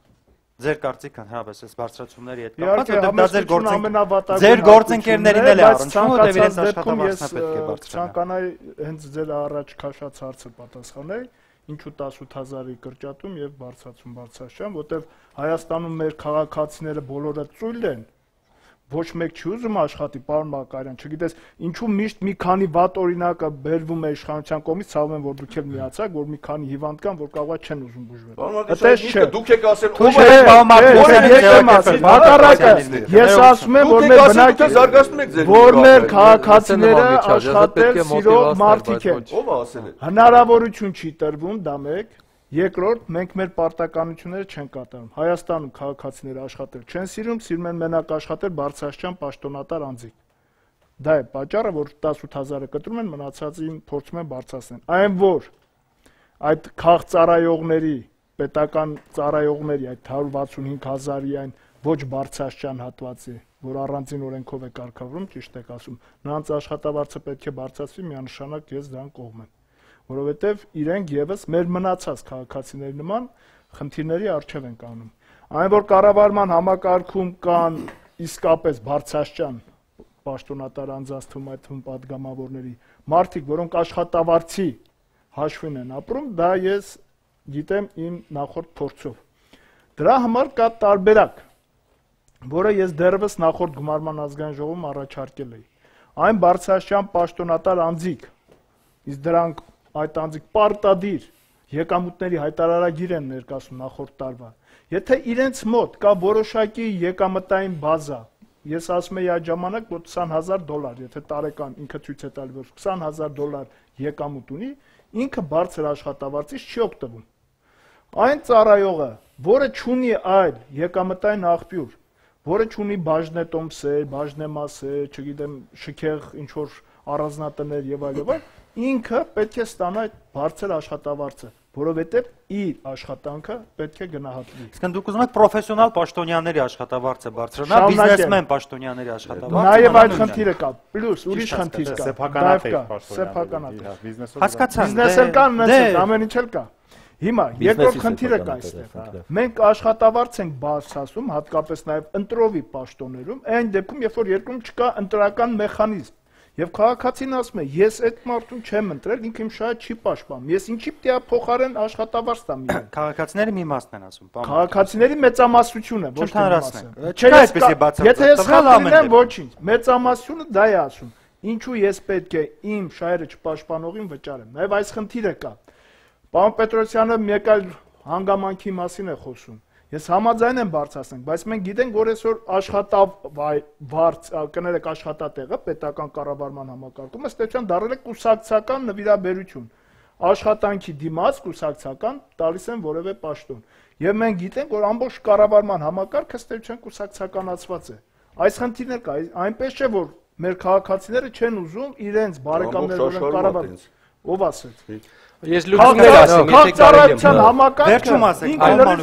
Speaker 1: Ձեր կարծիքը հրավես այս բարձրացումների հետ կապված, որտեղ դա ձեր գործընկ ձեր գործընկերներին էլ է առնչվում, որտեղ իրենց աշխատավարձն պետք է բարձրանա։
Speaker 3: Ցանկանայի հենց ձեր առաջ քաշած հարցը պատասխանել, ինչու տասութ հազարի կրճատում եւ բարձրացում բարձրացում, որտեղ Հայաստանում մեր քաղաքացիները բոլորը ծույլ են, ոչ մեկ չի ուզում աշխատի, պարոն Մակարյան, չգիտես, ինչու միշտ մի քանի վատ օրինակը բերվում է իշխանության կողմից, ցավում են, որ դուք էլ միացաք, որ մի քանի հիվանդ կան, որ կարող է չեն ուզում բուժվել։
Speaker 2: Այդպես չէ, դուք եք ասել,
Speaker 3: ով է պարոն Մակարյան, հակառակը, ես ասում եմ, որ մեր բնակիչ
Speaker 2: զարգացնում եք ձեր
Speaker 3: որ մեր քաղաքացիները աշխատել սիրող մարդիկ են։
Speaker 2: Ո՞վ է ասել։
Speaker 3: Հնարավորություն չի տրվում, դա մեկ։ Երկրորդ, մենք մեր պարտականությունները չեն կատարում։ Հայաստանում քաղաքացիները աշխատել չեն սիրում, սիրում են մենակ աշխատել բարձրաստիճան պաշտոնատար անձիկ։ Դա է պատճառը, որ տասութ հազարը կտրում են, մնացածին փորձում են բարձրացնել։ Այն որ այդ քաղծառայողների, պետական ծառայողների այդ հարյուր վաթսունհինգ հազարի այն ոչ բարձրաստիճան հատվածի, որ առանձին օրենքով է կարգավորում, ճիշտ եք ասում, նրանց աշխատավարձը պետք է բարձրացվի, միանշանակ ես դրան կողմ եմ։ Որովհետև իրենք եւս մեր մնացած քաղաքացիների նման խնդիրների առջև են կանգնում։ Այն որ կառավարման համակարգում կան իսկապես բարձրաստիճան պաշտոնատար անձանց թվում այդ թվում падգամավորների մարդիկ, որոնք աշխատավարձի հաշվին են ապրում, դա ես գիտեմ իմ նախորդ փորձով։ Դրա համար կա տարբերակ, որը ես դեռևս նախորդ գումարման ազգային ժողովում առաջարկել էի։ Այն բարձրաստիճան պաշտոնատար անձիկ, իսկ դրանք այդ անձիկ պարտադիր եկամուտների հայտարարագիր են ներկայացնում նախորդ տարվա։ Եթե իրենց մոտ կա որոշակի եկամտային բազա, ես ասում եի այդ ժամանակ, որ քսան հազար դոլար, եթե տարեկան ինքը ցույց է տալի, որ քսան հազար դոլար եկամուտ ունի, ինքը բարձր աշխատավարձից չի օգտվում։ Այն ծառայողը, որը չունի այլ եկամտային աղբյուր, որը չունի բաժնետոմսեր, բաժնեմասեր, չգիտեմ, շքեղ ինչ որ առանձնատներ եւ այլ եւ այլ, ինքը պետք է ստանա այդ բարձր աշխատավարձը, որովհետև իր աշխատանքը պետք է գնահատվի։
Speaker 1: Իսկ դուք ուզում եք պրոֆեսիոնալ պաշտոնյաների աշխատավարձը բարձրանա, բիզնեսմեն պաշտոնյաների աշխատավարձը։
Speaker 3: Նաև այդ խնդիրը կա, պլյուս ուրիշ խնդիր կա,
Speaker 4: սեփականատեր
Speaker 3: սեփականատեր։
Speaker 1: Հասկացա,
Speaker 3: բիզնեսը կան, ունեցել ամեն ինչ էլ կա։ Հիմա երկրորդ խնդիրը կա այստեղ։ Մենք աշխատավարձ ենք բարձրացում, հատկապես նաև ընտրովի պաշտոններում, այն դեպքում, երբ որ երկրում չկա ընտրական մեխանիզմ։ Եվ քաղաքացին ասում է, ես այդ մարդուն չեմ ընտրել, ինքը իմ շահը չի պաշտպանում։ Ես ինչի՞ պետք է փոխարեն աշխատավարձ տամ իրեն։
Speaker 1: Քաղաքացիների մի մասն են ասում, բան։
Speaker 3: Քաղաքացիների մեծամասնությունը, ոչ թե մասը։
Speaker 1: Չէ, այդպեսի բացարձակ։
Speaker 3: Եթե ես խնդրեմ ոչինչ, մեծամասնությունը դա է ասում։ Ինչու ես պետք է իմ շահերը չպաշտպանողին վճարեմ։ Նաև այս խնդիրը կա։ Պարոն Պետրոսյանը մեկ այլ հանգամանքի մասին է խոսում։ Ես համաձայն եմ բարձրացնենք, բայց մենք գիտենք, որ այսօր աշխատավարձ կներեք աշխատատեղը պետական կառավարման համակարգում ըստ էության դառել է կուսակցական նվիրաբերություն։ Աշխատանքի դիմաց կուսակցական տալիս են որևէ պաշտոն։ Եվ մենք գիտենք, որ ամբողջ կառավարման համակարգը ըստ էության կուսակցականացված է։ Այս խնդիրն էլ կա, այնպես չէ, որ մեր քաղաքացիները չեն ուզում իրենց բարեկամներով կառավարել։ Ով ասեց։
Speaker 5: Ես լուծումներ ասեմ, եթե կարելի է։
Speaker 1: Վերջում ասեք,
Speaker 3: Պարոն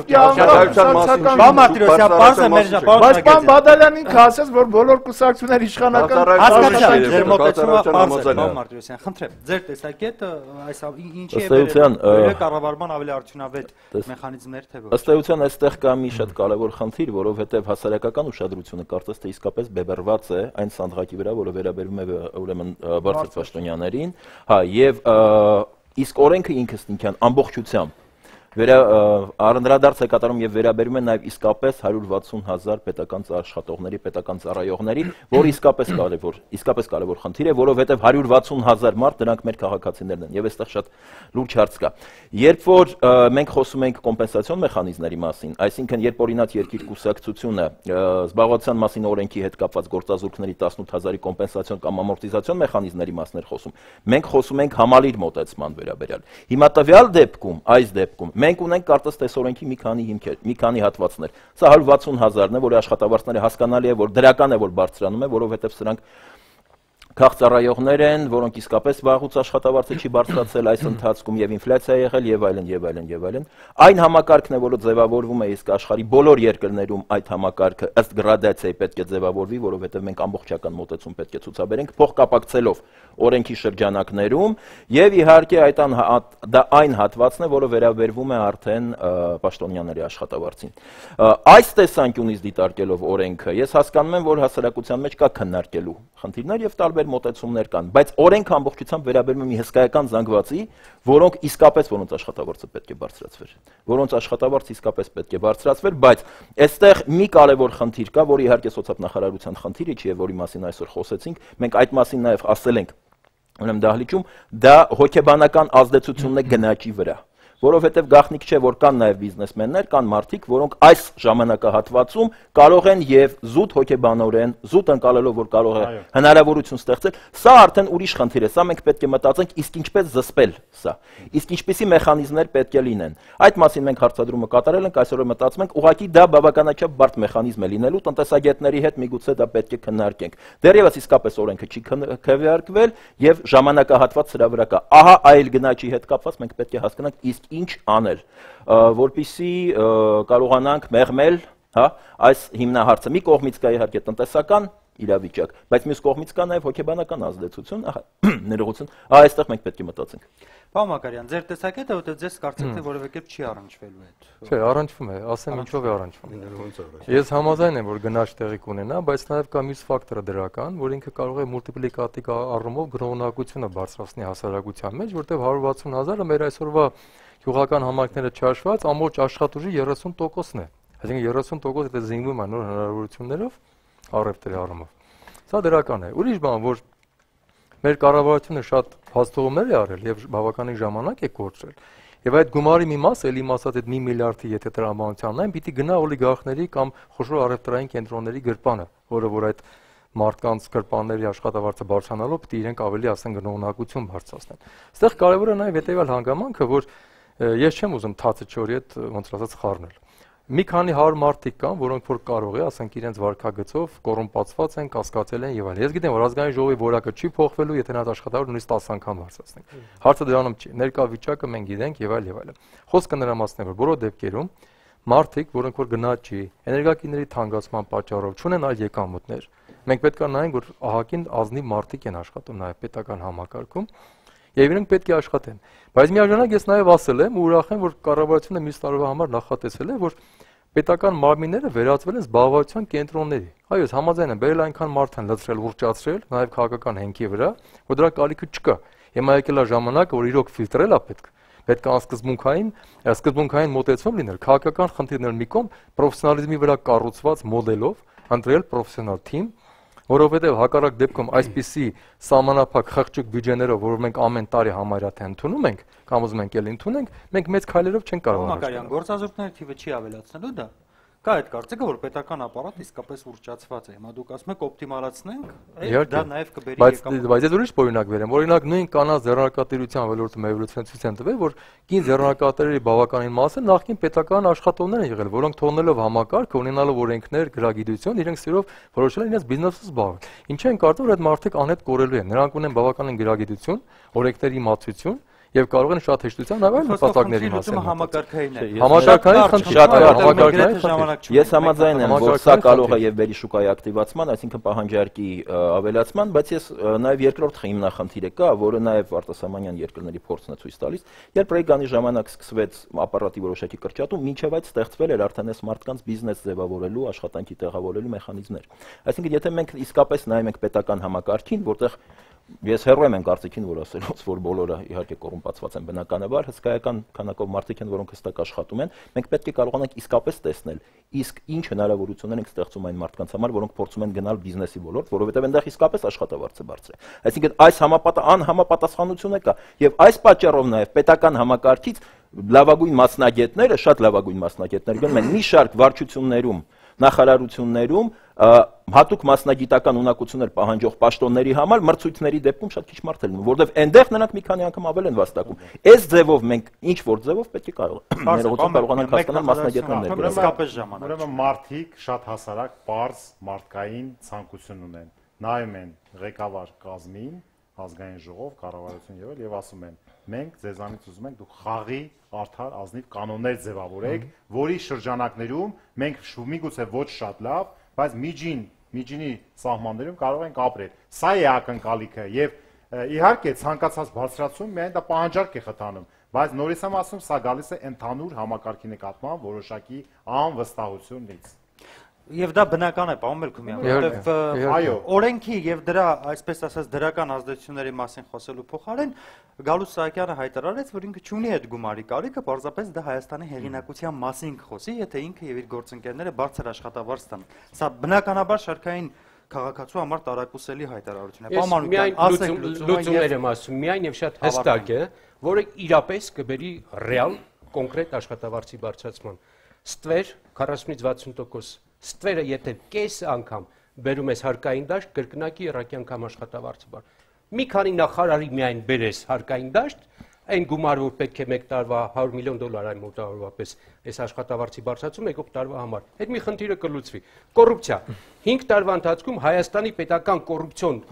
Speaker 1: Մարտիրոսյան, բարձր մեր ժապավարը։
Speaker 3: Բայց պարոն Բադալյանն ինքը ասեց, որ բոլոր կուսակցությունները իշխանական
Speaker 1: հասկացա, ձեր մոտեցումը բարձր, պարոն Մարտիրոսյան, խնդրեմ, ձեր տեսակետը այս ինչի է բերել կառավարման ավելի արդյունավետ մեխանիզմներ թե ոչ։
Speaker 6: Ըստ էության այստեղ կա մի շատ կարևոր խնդիր, որովհետև հասարակական ուշադրությունը կարծես թե իսկապես բևեռված է այն սանդղակի վրա, որը վերաբերում է ուրեմն բարձր պաշտոնյաներին, հա, եւ իսկ օրենքը ինքնին ամբողջությամբ վերա անդրադարձ է կատարում եւ վերաբերում է նաեւ իսկապես հարյուր վաթսուն հազար պետական աշխատողների, պետական ծառայողների, որ իսկապես կարևոր, իսկապես կարևոր խնդիր է, որովհետեւ հարյուր վաթսուն հազար մարդ դրանք մեր քաղաքացիներն են եւ այստեղ շատ լուրջ հարց կա։ Երբ որ մենք խոսում ենք կոմպենսացիոն մեխանիզմների մասին, այսինքն երբ օրինակ երկիր կուսակցությունը զբաղվածության մասին օրենքի հետ կապված գործազուրկների տասնութ հազարի կոմպենսացիոն կամ ամորտիզացիոն մեխանիզմների մասին էր խոսում, մենք խոսում ենք համալիր մոտեցման վերաբերյալ։ Հիմա տվյալ դեպքում, այս դեպքում մենք ունենք կարծես թե օրենքի մի քանի հիմքեր, մի քանի հատվածներ։ Սա հարյուր վաթսուն հազարն է, որի աշխատավարձները հասկանալի է, որ դրական է, որ բարձրանում է, որովհետև սրանք քաղցառայողներ են, որոնք իսկապես վաղուց աշխատավարձը չի բարձրացել այս ընթացքում եւ ինֆլյացիա եղել եւ այլն եւ այլն եւ այլն։ Այն համակարգն է, որը ձևավորվում է իսկ աշխարհի բոլոր երկրներում այդ համակարգը ըստ գրադացիայի պետք է ձևավորվի, որովհետեւ մենք ամբողջական մոտեցում պետք է ցուցաբերենք փոխկապակցելով օրենքի շրջանակներում եւ իհարկե այդ դա այն հատվածն է, որը վերաբերվում է արդեն պաշտոնյաների աշխատավարձին։ Այս տեսանկյունից դիտարկելով օրենքը, ես հասկանում եմ, որ հասարակության մեջ կա քննարկելու խնդիրներ եւ տարբեր մոտեցումներ կան, բայց օրենքը ամբողջությամբ վերաբերում է մի հսկայական զանգվածի, որոնք իսկապես որոնց աշխատավարձը պետք է բարձրացվեր, որոնց աշխատավարձը իսկապես պետք է բարձրացվեր, բայց այստեղ մի կարևոր խնդիր կա, որը իհարկե սոցիալ-նախարարության խնդիրը չի, եւ որի մասին այսօր խոսեցինք, մենք այդ մասին նաեւ ասել ենք ուրեմն դահլիճում, դա հոգեբանական ազդեցությունն է գնաճի վրա, որովհետև գաղտնիք չէ, որ կան նաև բիզնեսմեններ, կան մարդիկ, որոնք այս ժամանակահատվածում կարող են եւ զուտ հոգեբանորեն, զուտ ընկալելով, որ կարող է հնարավորություն ստեղծել, սա արդեն ուրիշ խնդիր է, սա մենք պետք է մտածենք, իսկ ինչպես զսպել սա, իսկ ինչպիսի մեխանիզմներ պետք է լինեն։ Այդ մասին մենք հարցադրումը կատարել ենք, այսօր մտածում ենք, ուղղակի դա բավականաչափ բարդ մեխանիզմ է լինելու, տնտեսագետների հետ միգուցե դա պետք է քննարկենք։ Դեռևս իսկապես օրենքը չի քվեարկվել եւ ժամանակահատված սրա վրա կա։ Ահա այլ գնաճի հետ կապված մենք պետք է հասկանանք իսկ ինչ անել, որպեսզի կարողանանք մեղմել, հա, այս հիմնահարցը։ Մի կողմից կա իհարկե տնտեսական իրավիճակ, բայց մյուս կողմից կա նաև հոգեբանական ազդեցություն, ներողություն, այստեղ մենք պետք է մտածենք։
Speaker 1: Պարոն Մակարյան, ձեր տեսակետը որտեղ ձեզ կարծեք թե որևէ կերպ չի առնչվելու հետ։
Speaker 7: Չէ, առնչվում է, ասեմ ինչով է առնչվում։ Ես համաձայն եմ, որ գնաճ տեղի կունենա, բայց նաև կա մյուս ֆակտորը դրական, որ ինքը կարող է մուլտիպլիկատիվ առումով գրողնակությունը բարձրացնի հասարակության մեջ, որտեղ հարյուր վաթսուն հազարը մեր այսօրվա գյուղական համայնքները չհաշված ամբողջ աշխատուժի երեսուն տոկոսն է։ Այսինքն երեսուն տոկոս դա զինվում է նոր հնարավորություններով առևտրի առումով։ Սա դրական է։ Ուրիշ բան, որ մեր կառավարությունը շատ հաստատումներ է արել եւ բավականին ժամանակ է կորցրել։ Եվ այդ գումարի մի մասը, ելի մասած այդ մի միլիարդի եթե տրամաբանությանն այն պիտի գնա օլիգարխների կամ խոշոր առևտրային կենտրոնների գրպանը, որը որ այդ մարդկանց գրպանների աշխատավարձը բարձրանալով պիտի իրենք ավելի ասեն գնողնակություն բարձրացնեն։ Այստեղ կարևոր է նաեւ հետեւյալ հանգամանքը, որ ես չեմ ուզում թացը չորի հետ ոնց ասած խառնել։ Մի քանի հարյուր մարդիկ կան, որոնք որ կարող է, ասենք իրենց վարկագծով կոռումպացված են, կասկածել են եւ այլն։ Ես գիտեմ, որ ազգային ժողովի որակը չի փոխվելու, եթե նա աշխատավարձը նույնիսկ տասը անգամ բարձրացնենք։ Հարցը դրանում չի։ Ներկա վիճակը մենք գիտենք եւ այլ եւ այլն։ Խոսքը նրա մասն է, որ բոլոր դեպքերում մարդիկ, որոնք որ գնաճի, էներգակիների թանկացման պատճառով չունեն այլ եկամուտներ, մենք պետք է նայենք, որ ահագին ազնիվ մարդիկ են աշխատում նաեւ պետական համակարգում։ եւ իրենք պետք է աշխատեն։ Բայց միաժամանակ ես նաեւ ասել եմ ու ուրախ եմ, որ կառավարությունը մյուս տարվա համար նախատեսել է, որ պետական մարմինները վերածվել են զբաղվածության կենտրոնների։ Այո, համաձայն եմ, բերել այնքան մարդ են լցրել, ուռճացրել, նաեւ քաղաքական հենքի վրա, որ դրա կարիքը չկա։ Հիմա եկել է ժամանակը, որ իրոք ֆիլտրել է պետք։ Պետք է անսկզբունքային, սկզբունքային մոտեցում լինել, քաղաքական խնդիրներ մի կողմ, պրոֆեսիոնալիզմի վրա կառուցված մոդելով, ընտրել պրոֆեսիոնալ թիմ, որովհետև հակառակ դեպքում այսպիսի սահմանափակ խղճուկ բյուջեներով, որ մենք ամեն տարի համարյա թե ընդունում ենք, կամ ուզում ենք էլ ընդունենք, մենք մեծ քայլերով չենք կարող
Speaker 1: անցնել։ Մակարյան, գործազուրկների թիվը չի ավելացնելու դա։ Կա այդ կարծիքը, որ պետական ապարատը իսկապես ուռճացված է։ Հիմա դուք ասում եք օպտիմալացնենք, դա նաև կբերի
Speaker 7: եկամուտ։ Բայց ես ուրիշ օրինակ վերեմ։ Օրինակ նույն կանանց ձեռնարկատիրության ոլորտում էվոլյուցիան ցույց են տվել, որ կին ձեռնարկատերերի բավականին մասը նախկին պետական աշխատողներ են եղել, որոնք թողնելով համակարգ, ունենալով օրենքներ, գրագիտություն, իրենք սիրով որոշել են իրենց բիզնեսով զբաղվել։ Ինչու են կարծում, որ այդ մարդիկ անհետ կորելու են։ Նրանք ունեն բավականին գրագիտություն, օրենքների իմացություն եւ կարող են շատ հեշտությամբ այլ նպատակների մասին
Speaker 1: համակարգային է։
Speaker 7: Համակարգային խնդիր շատ կար, համակարգային
Speaker 6: խնդիր։ Ես համաձայն եմ, որ սա կարող է եւ վերի շուկայի ակտիվացման, այսինքն պահանջարկի ավելացման, բայց ես նաեւ երկրորդ հիմնախնդիրը կա, որը նաեւ արտասահմանյան երկրների փորձն է ցույց տալիս, երբ Ռեյգանի ժամանակ սկսվեց ապարատի որոշակի կրճատում, մինչեւ այդ ստեղծվել էր արդեն այս մարդկանց բիզնես ձևավորելու, աշխատանքի տեղավորելու մեխանիզմներ։ Այսինքն եթե մենք իսկապես նայում ենք պետական համակարգին, որտեղ ես հեռու եմ կարծիքին, որ ասելով, որ բոլորը իհարկե կոռումպացված են բնականաբար, հսկայական քանակով մարդիկ են, որոնք հստակ աշխատում են, մենք պետք է կարողանանք իսկապես տեսնել, իսկ ինչ հնարավորություններ ենք ստեղծում այն մարդկանց համար, որոնք փորձում են գնալ բիզնեսի ոլորտ, որովհետև այնտեղ իսկապես աշխատավարձը բարձր է։ Այսինքն այս համապատասխան անհամապատասխանությունը կա, եւ այս պատճառով նաեւ պետական համակարգից լավագույն մասնագետները, շատ լավագույն մասնագետներ գնում են մի շարք վարչություններում, նախարարություններում հատուկ մասնագիտական ունակություններ պահանջող պաշտոնների համար մրցույթների դեպքում շատ քիչ մարդ է լինում, որովհետև այնտեղ նրանք մի քանի անգամ ավել են վաստակում։ Այս ձևով մենք ինչ որ ձևով պետք է ներողություն կարողանանք հասկանալ մասնագետներն են։
Speaker 4: Իսկապես ժամանակ։ Ուրեմն մարդիկ շատ հասարակ, པարզ մարդկային ցանկություն ունեն։ Նայում են ղեկավար կազմին, ազգային ժողով, կառավարություն եղել եւ ասում են. մենք ձեզանից ուզում ենք դուք խաղի արդար ազնիվ կանոններ ձևավորեք, որի շրջանակներում մենք միգուցե ոչ շատ լավ, բայց միջին, միջինի սահմաններում կարող ենք ապրել։ Սա է ակնկալիքը եւ իհարկե ցանկացած բարձրացում միայն դա պահանջարկ է խթանում, բայց նորից եմ ասում, սա գալիս է ընդհանուր համակարգի նկատմամբ որոշակի անվստահությունից։
Speaker 1: Եվ դա բնական է, պարոն Մելքումյան, որովհետև այո, օրենքի եւ դրա, այսպես ասած, դրական ազդեցությունների մասին խոսելու փոխարեն Գալուս Սահակյանը հայտարարեց, որ ինքը չունի այդ գումարի կարիքը, պարզապես դա Հայաստանի հեղինակության մասին կխոսի, եթե ինքը եւ իր գործընկերները բարձր աշխատավարձ տան։ Սա բնականաբար շարքային քաղաքացու համար տարակուսելի հայտարարություն է։
Speaker 5: Պարոն Մանուկյան, լուծումներ եմ ասում, միայն եւ շատ հստակ է, որը իրապես կբերի ռեալ, կոնկրետ աշխատավարձի բարձրացման։ Ստվեր քառասունից վաթսուն տոկոս Ստվերը եթե կես անգամ բերում ես հարկային դաշտ, կրկնակի երակի անգամ աշխատավարձը բար։ Մի քանի նախարարի միայն բերես հարկային դաշտ, այն գումարը որ պետք է մեկ տարվա հարյուր միլիոն դոլար այն մոտավորապես այս աշխատավարձի բարձրացում եկող տարվա համար։ Այդ մի խնդիրը կլուծվի։ Կոռուպցիա։ հինգ տարվա ընթացքում Հայաստանի պետական կոռուպցիոն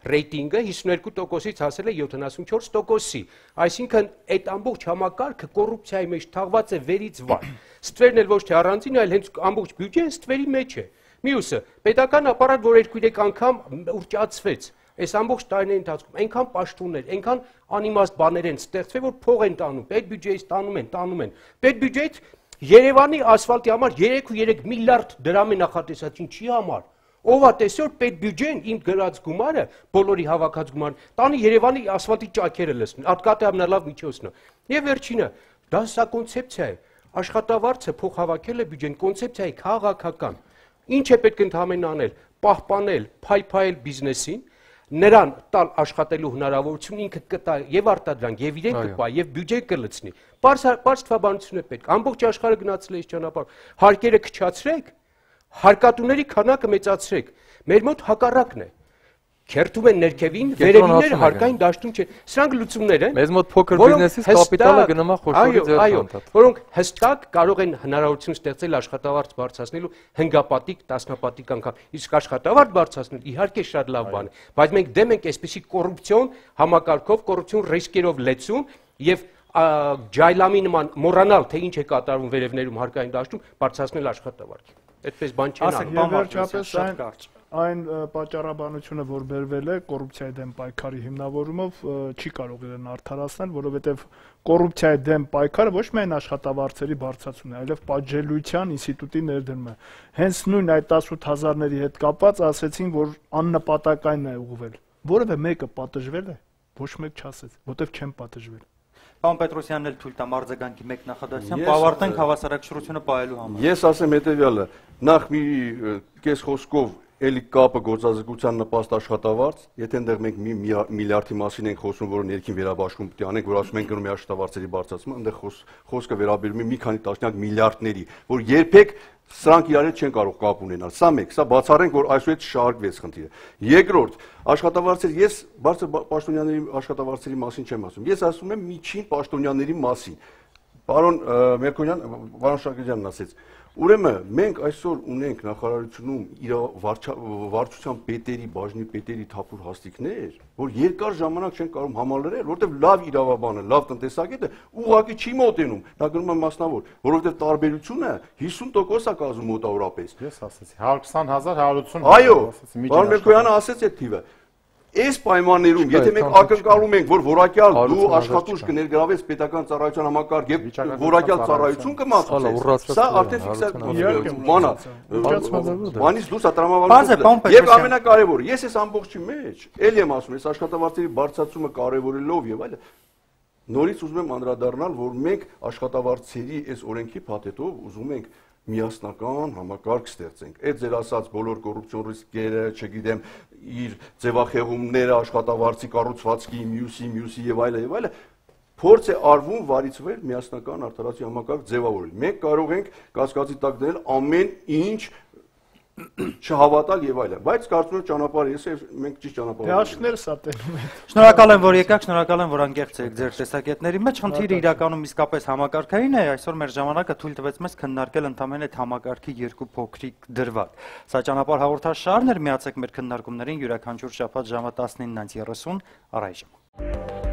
Speaker 5: ռեյտինգը հիսունյոթ տոկոսից հասել է յոթանասունչորս տոկոսի, այսինքն այդ ամբողջ համակարգը կոռուպցիայի մեջ թաղված է վերից վար։ Ստվերն էլ ոչ թե առանձին, այլ հենց ամբողջ բյուջեն ստվերի մեջ է։ Մյուսը, պետական ապարատ, որ երկու-երեք անգամ ուռճացվեց, այս ամբողջ տարիների ընթացքում այնքան պաշտոններ, այնքան անիմաստ բաներ են ստեղծվել, որ փող են տանում, պետբյուջեից տանում են, տանում են։ Պետբյուջեից Երևանի ասֆալտի համար երեք ու երեք միլիարդ դրամ է նախատեսած, ինչի համար։ Ով է տեսել պետբյուջեն իմ գրած գումարը, բոլորի հավաքած գումարը, տանի Երևանի ասֆալտի ճաքերը լցնի, ատկատե ամենալավ միջոցն է։ Եվ վերջինը, դա սա կոնցեպցիա է։ Աշխատավարձը փող հավաքել է բյուջեն, կոնցեպցիա է քաղաքական։ Ինչ է պետք ընդհանրապես անել, պահպանել, փայփայել բիզնեսին, նրան տալ աշխատելու հնարավորություն ինքը կտա եւ արտադրանք, եւ իրեն կպա, եւ բյուջե կլցնի։ Պարզ թվաբանություն է պետք։ Ամբողջ աշխարհը գնացել է այս ճանապարհ։ Հարկերը քչացրեք, հարկատուների քանակը մեծացրեք։ Մեր մոտ հակառակն է։ Քերթում են ներքևին, վերևինները հարկային դաշտում չեն։ Սրանք լուծումներ են։
Speaker 7: Մեզ մոտ փոքր բիզնեսից կապիտալը գնում է խոշորի ձեռքբերումով։
Speaker 5: Որոնք հստակ կարող են հնարավորություն ստեղծել աշխատավարձ բարձրացնելու հնգապատիկ, տասնապատիկ անգամ։ Իսկ աշխատավարձ բարձրացնել իհարկե շատ լավ բան է, բայց մենք դեմ ենք այսպիսի կոռուպցիոն համակարգով, կոռուպցիոն ռիսկերով լեցում եւ ջայլամի նման մոռանալ, թե ինչ է կատարվում վերևներում հարկային դաշտում, բարձրացնել աշխատավարձը։ Այդպես բան չեն անում։
Speaker 3: Վերջապես այն Այն պատճառաբանությունը, որ բերվել է կոռուպցիայի դեմ պայքարի հիմնավորումով, չի կարող իրեն արդարացնել, որովհետև կոռուպցիայի դեմ պայքարը ոչ միայն աշխատավարձերի բարձրացումն է, այլև պատժելիության ինստիտուտի ներդրումն է։ Հենց նույն այդ տասնութ հազարների հետ կապված ասեցին, որ աննպատակային է ուղղվել։ Որևէ մեկը պատժվել է, ոչ մեկ չասեց, որտեվ չեն պատժվել։
Speaker 1: Պարոն Պետրոսյանն էլ թույլ տա արձագանքի մեկ նախադասությամբ ավարտենք հավասարակշռությունը պահելու համար։
Speaker 2: Ես ասեմ հետեւյալը, նախ մի կես խոսքով էլի կապը գործազրկության նպաստ աշխատավարձ, եթե այնտեղ մենք մի միլիարդի մասին ենք խոսում, որը ներքին վերաբաշխում պետք է անենք, որ ասում ենք գնում է աշխատավարձերի բարձրացումը, այնտեղ խոսքը վերաբերում է մի քանի տասնյակ միլիարդների, որ երբեք սրանք իրար հետ չեն կարող կապ ունենալ։ Սա մեկ, սա բացառենք, որ այսուհետ շարժվեց խնդիրը։ Երկրորդ, աշխատավարձեր, ես բարձր պաշտոնյաների աշխատավարձերի մասին չեմ ասում։ Ես ասում եմ միջին պաշտոնյաների մասին։ Պարոն Մերկոնյան, պարոն Շակեջյանն ասեց, ուրեմն մենք այսօր ունենք նախարարությունում վարչության պետերի, բաժնի պետերի թափուր հաստիկներ, որ երկար ժամանակ չեն կարող համալրել, որովհետև լավ իրավաբանը, լավ տնտեսագետը ուղղակի չի մոտենում, նա գնում է մասնավոր, որովհետև տարբերությունը հիսուն տոկոս է կազմում մոտավորապես։
Speaker 4: Ես ասեցի հարյուր քսան հազար հարյուր ութսուն։
Speaker 2: Այո, պարոն Մերկոյանը ասեց այդ թիվը։ Այս պայմաններում, եթե մենք ակնկալում ենք, որ որակյալ դու աշխատուժ կներգրավես պետական ծառայության համակարգ եւ որակյալ ծառայություն կմատուցես, սա արդեն ֆիքսացիա մանա, բանից դուրս է տրամաբանությունը։ Եվ ամենակարևորը, ես այս ամբողջի մեջ ելի եմ ասում, այս աշխատավարձերի բարձրացումը կարևորելով եւ այլն, նորից ուզում եմ անդրադառնալ, որ մենք աշխատավարձերի այս օրենքի փաթեթով ուզում ենք միասնական համակարգ ստեղծենք։ Այդ ձեր ասած բոլոր կոռուպցիոն ռիսկերը, չգիտեմ, իր ձևախեղումները, աշխատավարձի կառուցվածքի, մյուսի, մյուսի եւ այլն եւ այլն, փորձ է արվում վարից վեր միասնական արդարացի համակարգ ձևավորել։ Մենք կարող ենք կասկածի տակ դնել ամեն ինչ չհավատալ եւ այլն, բայց կարծում եմ ճանապարհը ես մենք ճիշտ ճանապարհ ենք։
Speaker 3: Հաշիվները սա տենում են։
Speaker 1: Շնորհակալ եմ, որ եկաք, շնորհակալ եմ, որ անկեղծ եք ձեր տեսակետների մեջ։ Խնդիրը իրականում իսկապես համակարգային է, այսօր մեր ժամանակը թույլ տվեց մեզ քննարկել ընդամենը այդ համակարգի երկու փոքրիկ դրվագ։ Սա ճանապարհ հաղորդաշարն էր, միացեք մեր քննարկումներին յուրաքանչյուր շաբաթ ժամը տասնինը երեսուն առայժմ։